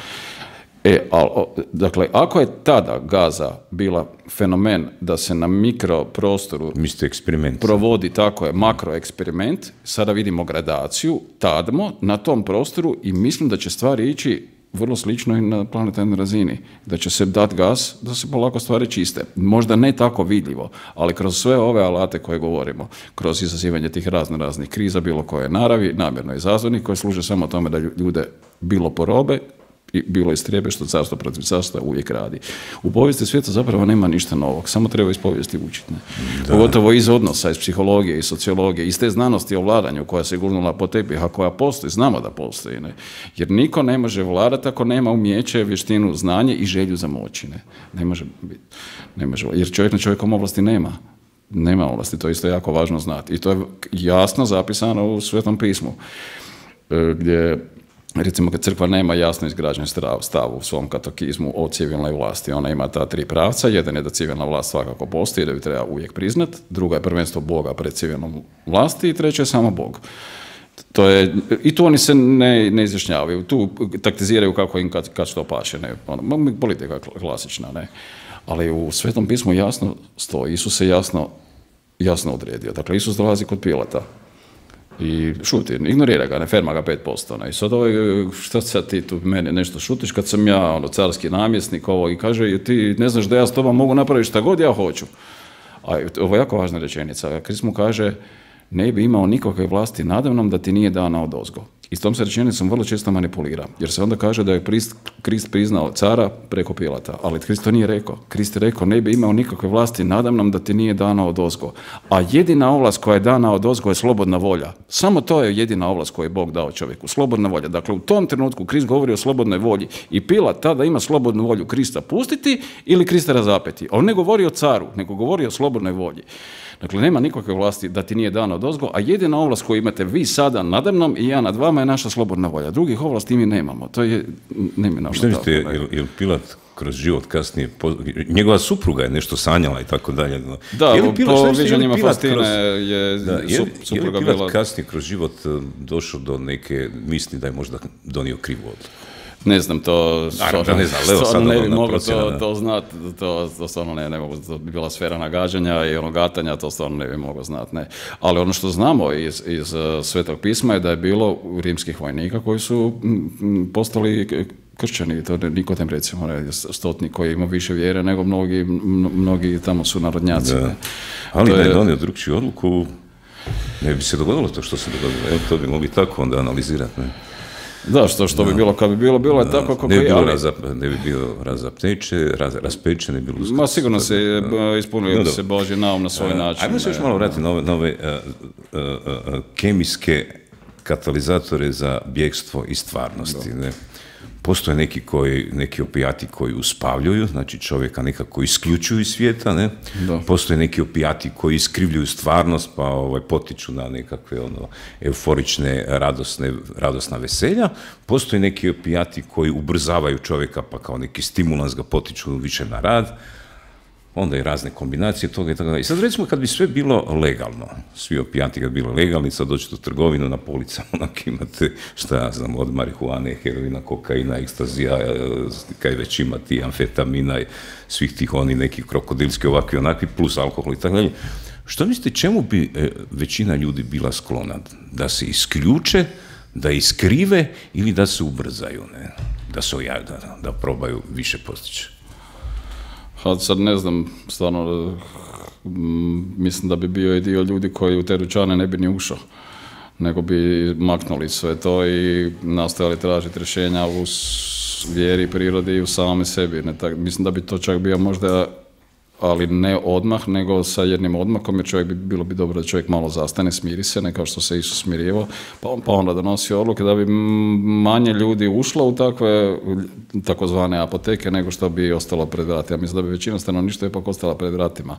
S2: E, ali, dakle, ako je tada Gaza bila fenomen da se na mikroprostoru provodi, tako je, makroeksperiment, sada vidimo gradaciju, tadmo na tom prostoru i mislim da će stvari ići vrlo slično i na planetarnoj razini. Da će se dati gas, da se polako stvari čiste. Možda ne tako vidljivo, ali kroz sve ove alate koje govorimo, kroz izazivanje tih razno raznih kriza, bilo koje naravi, namjerno izazvanih, koje služe samo tome da ljude bilo porobe, i bilo istrijebe što carstvo protiv carstva uvijek radi. U povijesti svijeta zapravo nema ništa novog, samo treba iz povijesti učiti. Pogotovo iz odnosa, iz psihologije, iz sociologije, iz te znanosti o vladanju koja se gurnula po tepih, a koja postoji, znamo da postoji. Ne? Jer niko ne može vladati ako nema umjeće, vještinu, znanje i želju za moći. Ne, ne može biti. Ne može, jer čovjek na čovjekom ovlasti nema. Nema ovlasti, to je isto jako važno znati. I to je jasno zapisano u Svetom pismu, gdje recimo kad crkva nema jasno izgrađen stav, stav u svom katekizmu o civilnoj vlasti, ona ima ta tri pravca, jedan je da civilna vlast svakako postoji, da ju treba uvijek priznat, druga je prvenstvo Boga pred civilnom vlasti i treća je samo Bog. To je, i tu oni se ne, ne izjašnjavaju, tu taktiziraju kako im kad, kad što paše, ne, ono, politika klasična, ne. Ali u Svetom pismu jasno stoji, Isus se jasno, jasno odredio. Dakle, Isus dolazi kod Pilata i šuti, ignorira ga, ne ferma ga pet posto. Ne. I sad ovaj, šta sad ti tu mene nešto šutiš kad sam ja ono, carski namjesnik ovo, i kaže ti ne znaš da ja s tobom mogu napraviti šta god ja hoću. A ovo je jako važna rečenica. Krist mu kaže ne bi imao nikakve vlasti nadamnom da ti nije dana odozgo. I s tom se rečenicom vrlo često manipulira, jer se onda kaže da je Krist priznao cara preko Pilata, ali Krist to nije rekao. Krist je rekao ne bi imao nikakve vlasti nadamnom da ti nije dana odozgo. A jedina ovlast koja je dana odozgo je slobodna volja. Samo to je jedina ovlast koju je Bog dao čovjeku, slobodna volja. Dakle, u tom trenutku Krist govori o slobodnoj volji i Pilat tada ima slobodnu volju Krista pustiti ili Krista razapeti. On ne govori o caru, nego govori o slobodnoj volji. Dakle, nema nikakve vlasti da ti nije dana odozgo, a jedina ovlast koju imate vi sada nadamnom i ja nad vama je naša slobodna volja. Drugih ovlasti mi nemamo. To je neminovno.
S1: Šta mislite, je, je Pilat kroz život kasnije, njegova supruga je nešto sanjala i tako dalje.
S2: Da, je li Pilat, po viđanjima Faustine kroz, je,
S1: da, je,
S2: supruga
S1: je li Pilat
S2: bila...
S1: kasnije kroz život došao do neke misli da je možda donio krivu odluku?
S2: Ne znam, to
S1: Naravno, ne znam, Leo sad
S2: ne bi
S1: ono,
S2: mogao to, to znati, to, to stvarno ne, ne mogu, to bi bila sfera nagađanja i ono gatanja, to stvarno ne bi mogao znati, ne. Ali ono što znamo iz, iz Svetog pisma je da je bilo rimskih vojnika koji su m, postali kršćani, to Nikodim recimo, ne, stotnik koji ima više vjere nego mnogi, mnogi tamo su narodnjaci.
S1: Da. Ali da je donio drugčiju odluku, ne bi se dogodilo to što se dogodilo, evo, to bi mogli tako onda analizirati, ne.
S2: Da, što, što da. bi bilo kad bi bilo, bilo je da. tako kako
S1: ne bi
S2: je.
S1: Ali... Razap, ne bi bilo razapteče, raz, raspeče, ne bi bilo uskrs.
S2: Ma sigurno se da. ispunio no, se Božji naum na svoj uh, način.
S1: Ajmo se još malo vratiti na ove, na ove uh, uh, uh, kemijske katalizatore za bjegstvo iz stvarnosti. Ne? Postoje neki, koji, neki opijati koji uspavljuju, znači čovjeka nekako isključuju iz svijeta, ne? Postoje neki opijati koji iskrivljuju stvarnost, pa ovaj, potiču na nekakve ono, euforične, radosne, radosna veselja. Postoje neki opijati koji ubrzavaju čovjeka, pa kao neki stimulans ga potiču više na rad. Onda i razne kombinacije toga i tako dalje. I sad recimo kad bi sve bilo legalno, svi opijati kad bi bilo legalni, sad dođete u trgovinu na policama, onak imate, šta ja znam, od marihuane, heroina, kokaina, ekstazija, kaj već imati, amfetamina i svih tih oni nekih krokodilski ovakvi onakvi, plus alkohol i tako dalje. Što mislite, čemu bi e, većina ljudi bila sklona? Da se isključe, da iskrive ili da se ubrzaju, ne? Da se ojade, da, da probaju više postići?
S2: Sad ne znam, stvarno, mislim da bi bio i dio ljudi koji u te dućane ne bi ni ušao, nego bi maknuli sve to i nastojali tražiti rješenja u vjeri, prirodi i u samome sebi. Ne, tak, mislim da bi to čak bio možda, ali ne odmah, nego sa jednim odmakom, jer čovjek bi, bilo bi dobro da čovjek malo zastane, smiri se, ne kao što se Isus smirivao, pa, pa onda donosi odluke da bi manje ljudi ušlo u takve takozvane apoteke nego što bi ostalo pred vratima. Mislim da bi većina stanovništva ipak ostala pred vratima.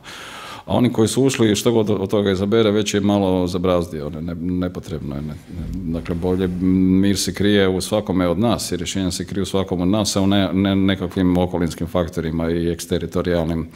S2: A oni koji su ušli, što god od toga izabere, već je malo zabrazdio, ne, nepotrebno je. Ne, ne. Dakle, bolje mir se krije u svakome od nas i rješenja se kriju u svakom od nas, a u ne, ne nekakvim okolinskim faktorima i eksteritorijalnim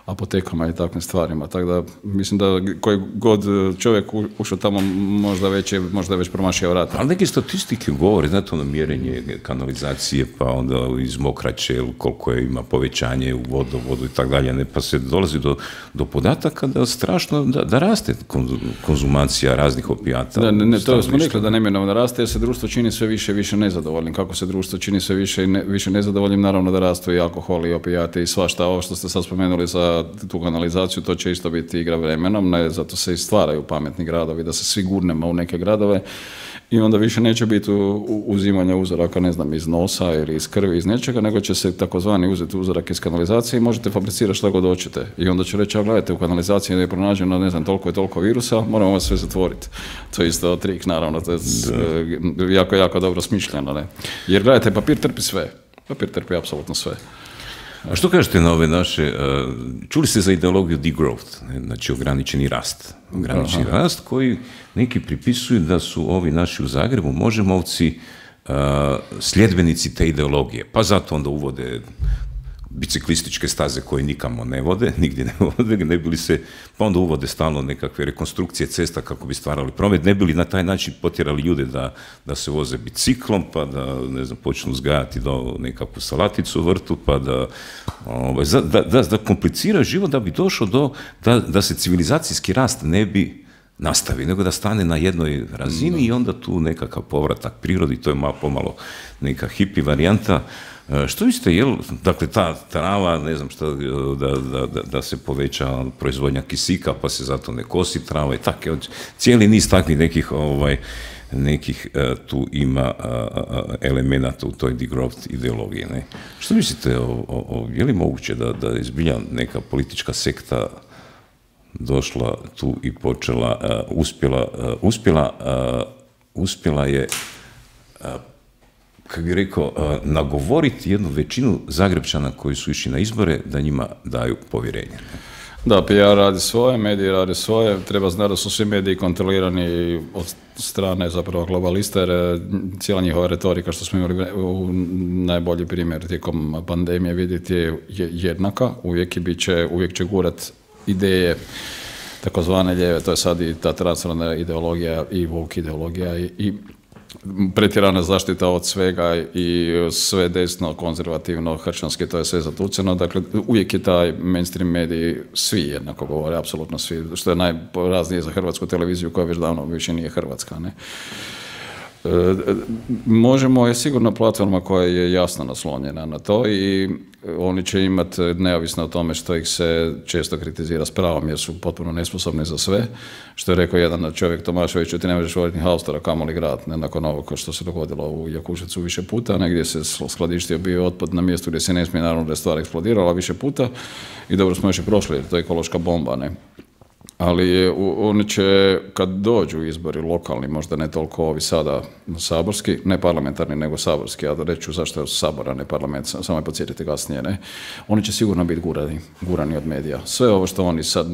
S2: apotekama i takvim stvarima. Tako da, mislim da koji god čovjek ušao tamo možda već je, možda je već promašio vrata.
S1: Ali neke statistike govore, znate, ono mjerenje kanalizacije, pa onda iz mokraće, koliko je ima povećanje u vodovodu i tako dalje, ne, pa se dolazi do, do podataka da strašno, da, da raste konzumacija raznih opijata.
S2: Da, ne, ne, to smo rekli da neminovno raste, jer se društvo čini sve više i više nezadovoljnim. Kako se društvo čini sve više i ne, više nezadovoljnim, naravno da rastu i alkohol i opijate i svašta. Ovo što ste sad spomenuli za tu kanalizaciju, to će isto biti igra vremenom, ne, zato se i stvaraju pametni gradovi, da se svi gurnemo u neke gradove i onda više neće biti uzimanja uzoraka, ne znam, iz nosa ili iz krvi, iz nečega, nego će se takozvani uzeti uzorak iz kanalizacije i možete fabricirati što god hoćete. I onda će reći, a gledajte, u kanalizaciji je pronađeno, ne znam, toliko i toliko virusa, moramo vas sve zatvoriti. To je isto trik, naravno, to je da. jako, jako dobro smišljeno, ne. Jer gledajte, papir trpi sve. Papir trpi apsolutno sve.
S1: A što kažete na ove naše, čuli ste za ideologiju degrowth, znači ograničeni rast, ograničeni Aha. rast koji neki pripisuju da su ovi naši u Zagrebu možemovci sljedbenici te ideologije, pa zato onda uvode biciklističke staze koje nikamo ne vode, nigdje ne vode, ne bili se, pa onda uvode stalno nekakve rekonstrukcije cesta kako bi stvarali promet, ne bili na taj način potjerali ljude da, da se voze biciklom, pa da, ne znam, počnu uzgajati do nekakvu salaticu u vrtu, pa da, ovaj, da, da, da komplicira život da bi došlo do, da, da se civilizacijski rast ne bi nastavi, nego da stane na jednoj razini i onda tu nekakav povratak prirodi, to je malo pomalo neka hippie varijanta. Što mislite, jel, dakle, ta trava, ne znam šta, da, da, da se poveća proizvodnja kisika, pa se zato ne kosi trava i tako, cijeli niz takvih nekih, ovaj, nekih tu ima elemenata u toj degrowth ideologiji, ne? Što mislite, o, o, je li moguće da, da je zbilja neka politička sekta došla tu i počela, uh, uspjela, uh, uspjela, uh, uspjela je, uh, kako bih rekao, uh, nagovoriti jednu većinu Zagrepčana koji su išli na izbore da njima daju povjerenje.
S2: Da, P R radi svoje, mediji radi svoje, treba znati da su svi mediji kontrolirani od strane zapravo globalista, jer cijela njihova retorika, što smo imali u najbolji primjer tijekom pandemije vidjeti, je jednaka, uvijek, i bit će, uvijek će gurat ideje takozvane lijeve, to je sad i ta transferna ideologija i woke ideologija i, i pretjerana zaštita od svega i sve desno, konzervativno, hršćanski, to je sve zatuceno. Dakle, uvijek je taj mainstream mediji, svi jednako govore, apsolutno svi, što je najporaznije za hrvatsku televiziju koja već davno više nije hrvatska, ne? E, možemo je sigurno platforma koja je jasno naslonjena na to i oni će imati, neovisno o tome što ih se često kritizira s pravom jer su potpuno nesposobni za sve, što je rekao jedan čovjek Tomašević, ti ne možeš voditi ni haustora, kamoli grad, ne, nakon ovog što se dogodilo u Jakuševcu više puta, negdje se skladištio bio otpad na mjestu gdje se ne smije, naravno da je stvar eksplodirala više puta i dobro smo još i prošli jer to je ekološka bomba, ne. Ali oni će, kad dođu izbori lokalni, možda ne toliko ovi sada saborski, ne parlamentarni, nego saborski, ja da reću zašto je sabora, ne parlament, samo je podsjetiti kasnije, ne, oni će sigurno biti gurani, gurani od medija. Sve ovo što oni sad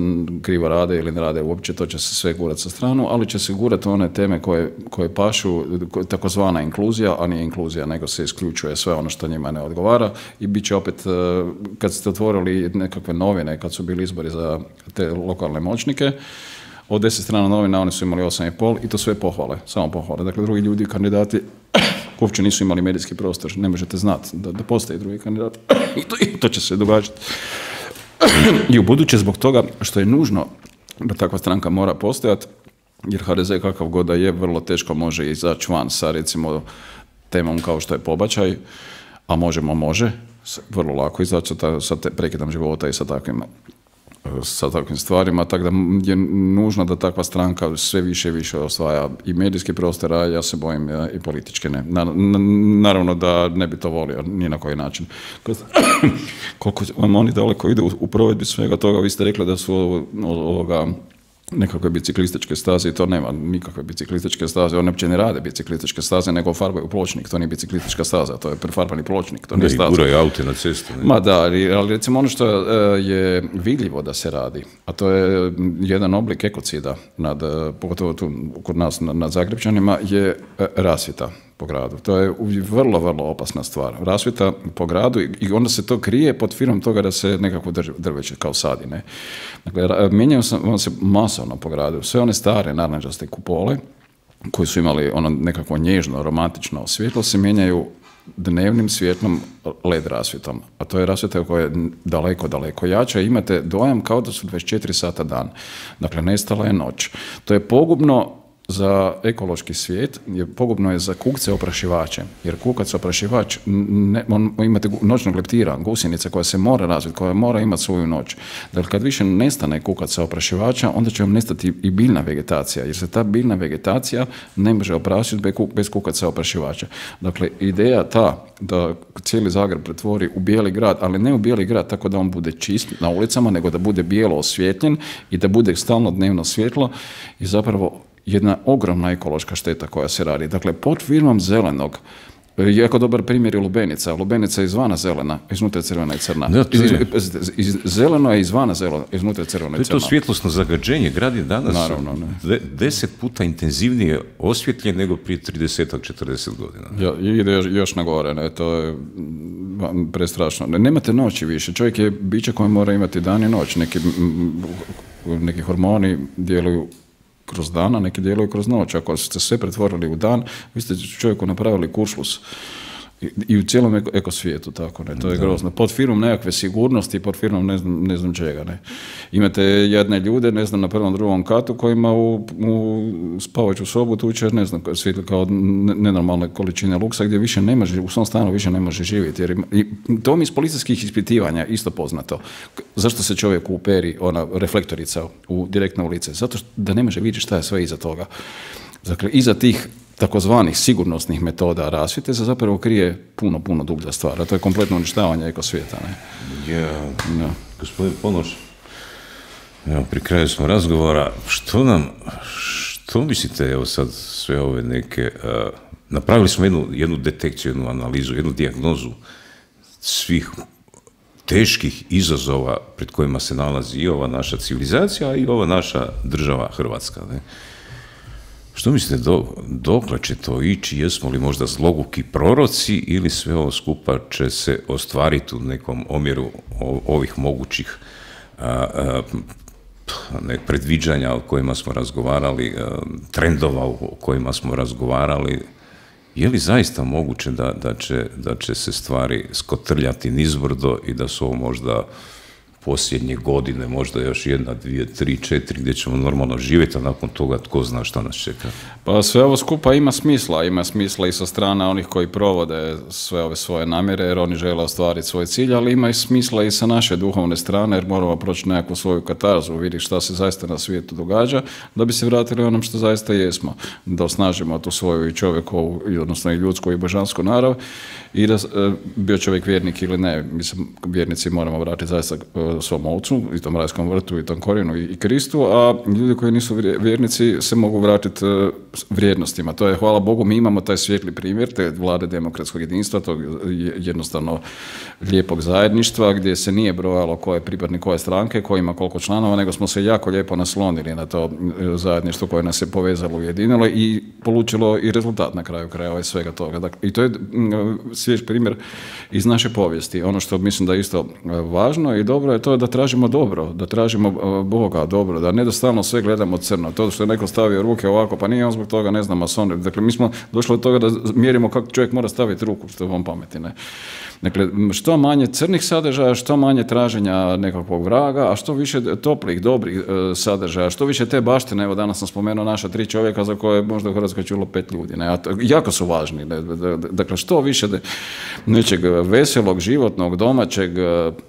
S2: krivo rade ili ne rade uopće, to će se sve gurati sa stranu, ali će se gurati one teme koje, koje pašu, takozvana inkluzija, a nije inkluzija, nego se isključuje sve ono što njima ne odgovara i bit će opet, kad ste otvorili nekakve novine, kad su bili izbori za te lokalne moćnike, od deset strana novina oni su imali osam i pol i to sve pohvale, samo pohvale. Dakle, drugi ljudi, kandidati, uopće nisu imali medijski prostor, ne možete znati da, da postoji drugi kandidat i to, i to će se događati. I u buduće zbog toga što je nužno da takva stranka mora postojati, jer H D Z kakav god da je, vrlo teško može izaći van sa recimo temom kao što je pobačaj, a možemo može, vrlo lako izaći sa, sa prekidom života i sa takvim sa takvim stvarima, tako da je nužno da takva stranka sve više i više osvaja i medijski prostor, a ja se bojim i politički ne. Naravno da ne bi to volio ni na koji način. Koliko vam oni daleko idu u provedbi svega toga, vi ste rekli da su ovoga nekakve biciklističke staze i to nema nikakve biciklističke staze, one uopće ne rade biciklističke staze, nego farbaju pločnik, to nije biciklistička staza, to je prefarbani pločnik, to nije staza.
S1: Da, i guraju aute na cestu. Ne?
S2: Ma da, ali, ali recimo ono što je vidljivo da se radi, a to je jedan oblik ekocida, nad, pogotovo tu kod nas nad Zagrepčanima, je rasvjeta po gradu. To je vrlo, vrlo opasna stvar. Rasvjeta po gradu i onda se to krije pod firmom toga da se nekako drveće kao sadi. Ne? Dakle, mijenjaju se masovno po gradu. Sve one stare narančaste kupole koji su imali ono nekakvo nježno, romantično svjetlo se mijenjaju dnevnim svjetlom L E D rasvjetom. A to je rasvjeta koja je daleko, daleko jača i imate dojam kao da su dvadeset četiri sata dan. Dakle, nestala je noć. To je pogubno za ekološki svijet, je pogubno je za kukce oprašivače, jer kukac oprašivač, ne, on, imate noćnog leptira, gusjenica koja se mora razviti, koja mora imati svoju noć. Dakle, kad više nestane kukaca oprašivača, onda će vam nestati i biljna vegetacija, jer se ta biljna vegetacija ne može oprašiti bez kukaca oprašivača. Dakle, ideja ta da cijeli Zagreb pretvori u bijeli grad, ali ne u bijeli grad tako da on bude čist na ulicama, nego da bude bijelo osvjetljen i da bude stalno dnevno svjetlo i zapravo jedna ogromna ekološka šteta koja se radi. Dakle, pod firmom zelenog Jako dobar primjer je lubenica. Lubenica je izvana zelena, iznutra je crvena i crna.
S1: Da, to je.
S2: Iz, iz, zeleno je izvana zeleno, iznutra je crvena i crna.
S1: To je to svjetlosno zagađenje. Grad je danas
S2: Naravno, ne.
S1: de, deset puta intenzivnije osvjetljen nego prije trideset do četrdeset godina.
S2: Ja, ide još, još na gore, ne, to je prestrašno. Ne, nemate noći više. Čovjek je biće koje mora imati dan i noć. Neki, neki hormoni djeluju kroz dana, neki djeluju kroz noć. Ako ste sve pretvorili u dan, vi ste čovjeku napravili kuršlus. I, i u cijelom eko, ekosvijetu, tako, ne, to je da. grozno. Pod firmom nekakve sigurnosti, pod firmom ne znam, ne znam čega, ne. Imate jedne ljude, ne znam, na prvom, drugom katu kojima u, u spavajuću sobu tuče, ne znam, svjetli kao nenormalne količine luksa gdje više ne može, u svom stanu više ne može živjeti. Jer ima, i to mi iz policijskih ispitivanja isto poznato. Zašto se čovjek uperi, ona reflektorica u, direktno u lice? Zato što da ne može vidjeti šta je sve iza toga. Dakle, iza tih takozvanih sigurnosnih metoda rasvjete se zapravo krije puno, puno dublja stvar, a to je kompletno uništavanje ekosvijeta. Ne?
S1: Ja, no. Gospodin Ponoš, evo, pri kraju smo razgovora, što nam, što mislite, evo sad sve ove neke, uh, napravili smo jednu, jednu detekciju, jednu analizu, jednu dijagnozu svih teških izazova pred kojima se nalazi i ova naša civilizacija i ova naša država Hrvatska, ne? Što mislite, do, dokle će to ići? Jesmo li možda zloguki proroci ili sve ovo skupa će se ostvariti u nekom omjeru ovih mogućih a, a, ne, predviđanja o kojima smo razgovarali, a, trendova o kojima smo razgovarali? Je li zaista moguće da, da, će, da će se stvari skotrljati nizbrdo i da su ovo možda posljednje godine, možda još jedna, dvije, tri, četiri, gdje ćemo normalno živjeti, a nakon toga tko zna šta nas čeka?
S2: Pa sve ovo skupa ima smisla, ima smisla i sa strane onih koji provode sve ove svoje namjere, jer oni žele ostvariti svoj cilj, ali ima i smisla i sa naše duhovne strane, jer moramo proći nekakvu svoju katarzu, vidjeti šta se zaista na svijetu događa, da bi se vratili onom što zaista jesmo, da osnažimo tu svoju i čovjekovu, odnosno i ljudsku i božansku narav, i da bio čovjek vjernik ili ne, mislim, vjernici moramo vratiti zaista svom ovcu, i tom rajskom vrtu, i tom korijenu, i Kristu, a ljudi koji nisu vjernici se mogu vratiti vrijednostima. To je, hvala Bogu, mi imamo taj svijetli primjer, te vlade demokratskog jedinstva, tog jednostavno lijepog zajedništva, gdje se nije brojalo ko je pripadnik koje stranke, ko ima koliko članova, nego smo se jako lijepo naslonili na to zajedništvo koje nas je povezalo, ujedinilo i polučilo i rezultat na kraju krajeva i svega toga. Dakle, i to je svjež primjer iz naše povijesti. Ono što mislim da je isto važno i dobro je to da tražimo dobro, da tražimo Boga dobro, da ne da stalno sve gledamo crno. To što je neko stavio ruke ovako, pa nije on zbog toga, ne znam, mason. Dakle, mi smo došli od toga da mjerimo kako čovjek mora staviti ruku, što je on pameti, ne. Dakle, što manje crnih sadržaja, što manje traženja nekakvog vraga, a što više toplih, dobrih e, sadržaja, što više te baštine. Evo, danas sam spomenuo naša tri čovjeka za koje možda u Hrvatskoj čulo pet ljudi. Ne? A to, jako su važni. Ne? Dakle, što više de, nečeg veselog, životnog, domaćeg,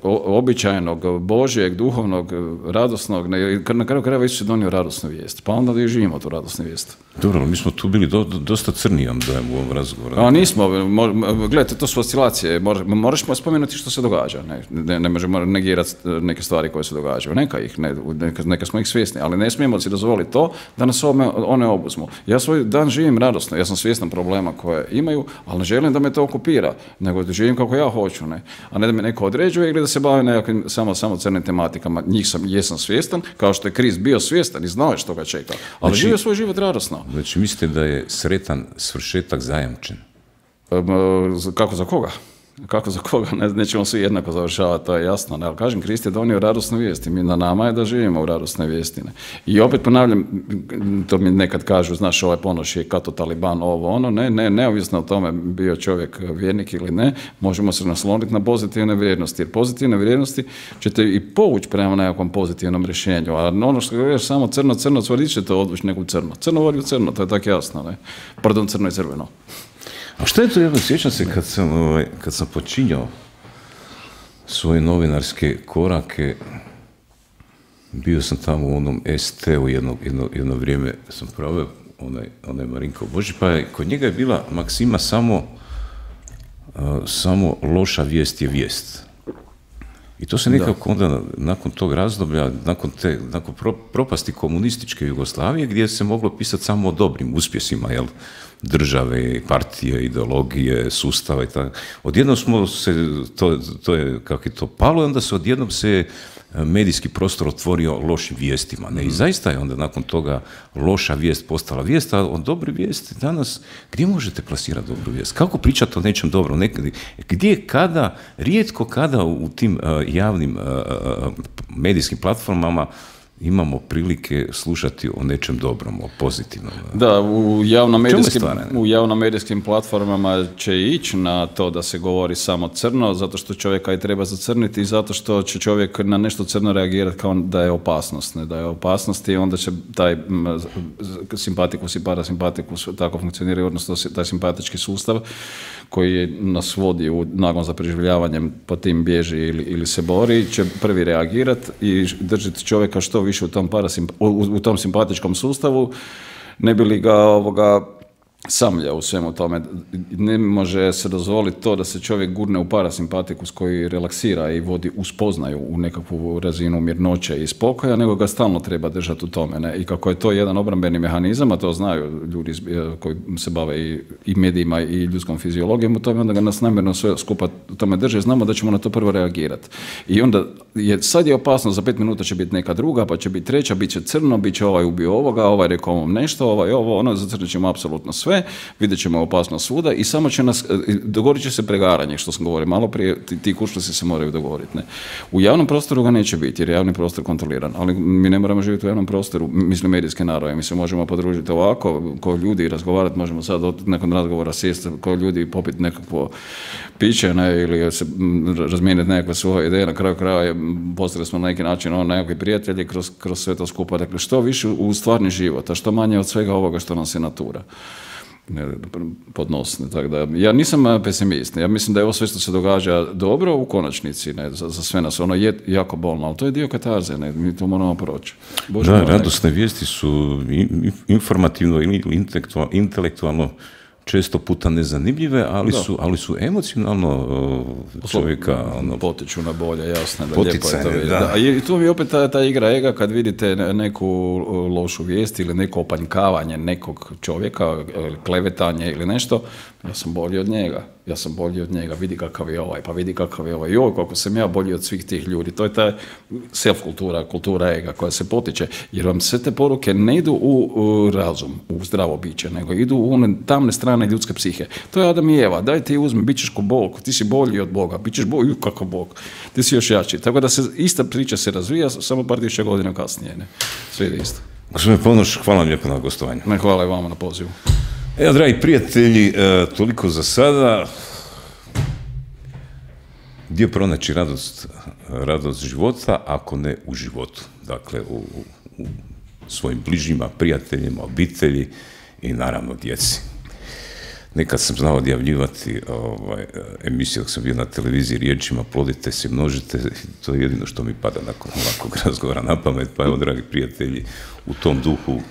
S2: običajnog, božjeg, duhovnog, radosnog. Ne? Na kraju krajeva Isus je donio radosnu vijest. Pa onda da i živimo tu radosnu vijest.
S1: Dobro, mi smo tu bili do, do, dosta crni, vam dojem u ovom razgovoru.
S2: A nismo. Mo, gledajte, to su oscilacije. Moraš spomenuti što se događa. Ne, ne, ne možemo negirati neke stvari koje se događaju. Neka ih, ne, neka, neka smo ih svjesni, ali ne smijemo si dozvoliti to da nas ome, one obuzmu. Ja svoj dan živim radosno, ja sam svjestan problema koje imaju, ali ne želim da me to okupira, nego da živim kako ja hoću, ne. A ne da me neko određuje ili da se bavim nekakvim samo, samo crnim tematikama. Njih sam, jesam svjestan, kao što je Krist bio svjestan i znao je što ga čeka, ali znači, živio svoj život radosno.
S1: Znači, mislite da je sretan svršetak zajamčen?
S2: Kako za koga? Kako za koga, ne, nećemo svi jednako završavati, to je jasno. Ne? Ali kažem, Krist je donio radosnu vijest i mi na nama je da živimo u radosnoj vijesti. Ne? I opet ponavljam, to mi nekad kažu, znaš, ovaj Ponoš je kato taliban, ovo ono, ne, ne, neovisno o tome bio čovjek vjernik ili ne, možemo se nasloniti na pozitivne vrijednosti, jer pozitivne vrijednosti ćete i povući prema nekakvom pozitivnom rješenju, a ono što govoriš samo crno, crno, cvrdić ćete odvući neku crno. Crno vodi u crno, to je tako jasno, ne? Pardon, crno i crveno.
S1: A što je to, jedno, sjećam se kad sam, ovaj, kad sam počinjao svoje novinarske korake, bio sam tamo u onom S T-u jedno, jedno, jedno vrijeme, sam proveo onaj, onaj Marinko Boži, pa je, kod njega je bila maksima samo, uh, samo loša vijest je vijest. I to se nekako onda, nakon tog razdoblja, nakon, te, nakon pro, propasti komunističke Jugoslavije, gdje se moglo pisati samo o dobrim uspjesima, jel? države, partije, ideologije, sustava i tako. Odjednom smo se, to, to je, kako je to palo, i onda se odjednom se medijski prostor otvorio lošim vijestima. Ne? I zaista je onda nakon toga loša vijest postala vijest, a o dobri vijesti danas, gdje možete plasirati dobru vijest? Kako pričati o nečem dobrom? Nekad, gdje, kada, rijetko kada u tim uh, javnim uh, medijskim platformama imamo prilike slušati o nečem dobrom, o pozitivnom.
S2: Da, u javnomedijskim, u javnomedijskim platformama će ići na to da se govori samo crno, zato što čovjeka i treba zacrniti i zato što će čovjek na nešto crno reagirati kao da je opasnost. Ne? Da je opasnost i onda će taj simpatikus i parasimpatikus tako funkcioniraju, odnosno taj simpatički sustav koji nas vodi u nagon za preživljavanjem, po tim bježi ili, ili se bori, će prvi reagirati i držati čovjeka što više u tom, parasimp- u, u tom simpatičkom sustavu, ne bi li ga ovoga samlja u svemu tome. Ne može se dozvoliti to da se čovjek gurne u parasimpatikus koji relaksira i vodi u spoznaju u nekakvu razinu mirnoće i spokoja, nego ga stalno treba držati u tome. Ne? I kako je to jedan obrambeni mehanizam, a to znaju ljudi koji se bave i, i medijima i ljudskom fiziologijom, u tome onda ga nas namjerno sve skupa u tome drže, znamo da ćemo na to prvo reagirati. I onda je, sad je opasno, za pet minuta će biti neka druga, pa će biti treća, bit će crno, bit će ovaj ubio ovoga, ovaj rekao ovom nešto, ovaj ovo, ono, zacrnit ćemo apsolutno sve, vidjet ćemo opasnost svuda i samo će nas, dogodit će se pregaranje, što sam govorio malo prije, ti, ti kuršlusi se moraju dogovoriti. Ne? U javnom prostoru ga neće biti, jer je javni prostor kontroliran, ali mi ne moramo živjeti u javnom prostoru, mislim medijske narode, mi se možemo podružiti ovako, ko ljudi razgovarati, možemo sad nakon razgovora sjesti, ko ljudi popiti nekakvo piće, ne, ili se razmijeniti nekakve svoje ideje, na kraju kraja postali smo na neki način ono, nekakvi prijatelji kroz, kroz sve to skupa, dakle što više u stvarni život, a što manje od svega ovoga što nam se natura podnosne. Tako da, ja nisam pesimist. Ja mislim da je ovo sve što se događa dobro u konačnici, ne, za, za sve nas. Ono je jako bolno, ali to je dio katarze, ne, mi to moramo proći. Bože,
S1: da, radosne vijesti su informativno ili intelektualno često puta nezanimljive, ali, su, ali su emocionalno uh, čovjeka ono,
S2: potiču na bolje, jasno. Da,
S1: poticanje,
S2: lijepo je to,
S1: da.
S2: da. I tu mi opet ta, ta igra ega kad vidite neku lošu vijest ili neko opanjkavanje nekog čovjeka, klevetanje ili nešto, ja sam bolji od njega. Ja sam bolji od njega, vidi kakav je ovaj, pa vidi kakav je ovaj. Joj, koliko sam ja bolji od svih tih ljudi. To je ta self-kultura, kultura ega koja se potiče, jer vam sve te poruke ne idu u, u razum, u zdravo biće, nego idu u one tamne strane ljudske psihe. To je Adam i Eva, daj ti uzmi, bit ćeš ko Bog, ti si bolji od Boga, bit ćeš bolji, kako Bog, ti si još jači. Tako da se ista priča se razvija, samo par tisuća godina kasnije. Ne? Sve ide isto.
S1: Gospodine Ponoš, hvala vam lijepo na gostovanju.
S2: Ne, hvala i vama na pozivu.
S1: Evo, dragi prijatelji, toliko za sada. Gdje pronaći radost, radost života, ako ne u životu? Dakle, u, u svojim bližnjima, prijateljima, obitelji i naravno djeci. Nekad sam znao odjavljivati ovaj, emisiju dok sam bio na televiziji riječima plodite se, množite, to je jedino što mi pada nakon ovakvog razgovora na pamet, pa evo, dragi prijatelji, u tom duhu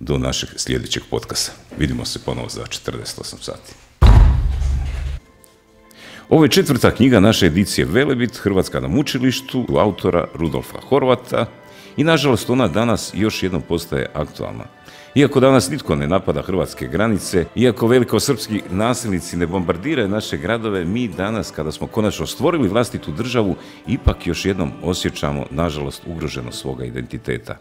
S1: do našeg sljedećeg podcasta. Vidimo se ponovo za četrdeset osam sati. Ovo je četvrta knjiga naše edicije Velebit, Hrvatska na mučilištu, autora Rudolfa Horvata i nažalost ona danas još jednom postaje aktualna. Iako danas nitko ne napada hrvatske granice, iako velikosrpski nasilnici ne bombardiraju naše gradove, mi danas, kada smo konačno stvorili vlastitu državu, ipak još jednom osjećamo, nažalost, ugroženost svoga identiteta.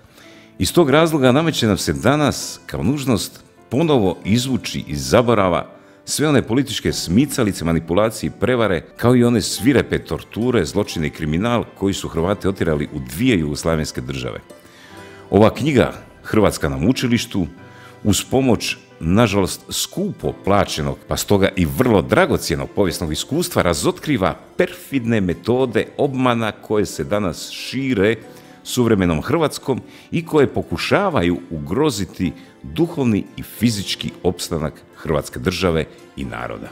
S1: Iz tog razloga nameće nam se danas kao nužnost ponovo izvući iz zaborava sve one političke smicalice, manipulacije i prevare, kao i one svirepe torture, zločine i kriminal koji su Hrvate otjerali u dvije jugoslavenske države. Ova knjiga, Hrvatska na mučilištu, uz pomoć, nažalost, skupo plaćenog, pa stoga i vrlo dragocjenog povijesnog iskustva, razotkriva perfidne metode obmana koje se danas šire suvremenom Hrvatskom i koje pokušavaju ugroziti duhovni i fizički opstanak Hrvatske države i naroda.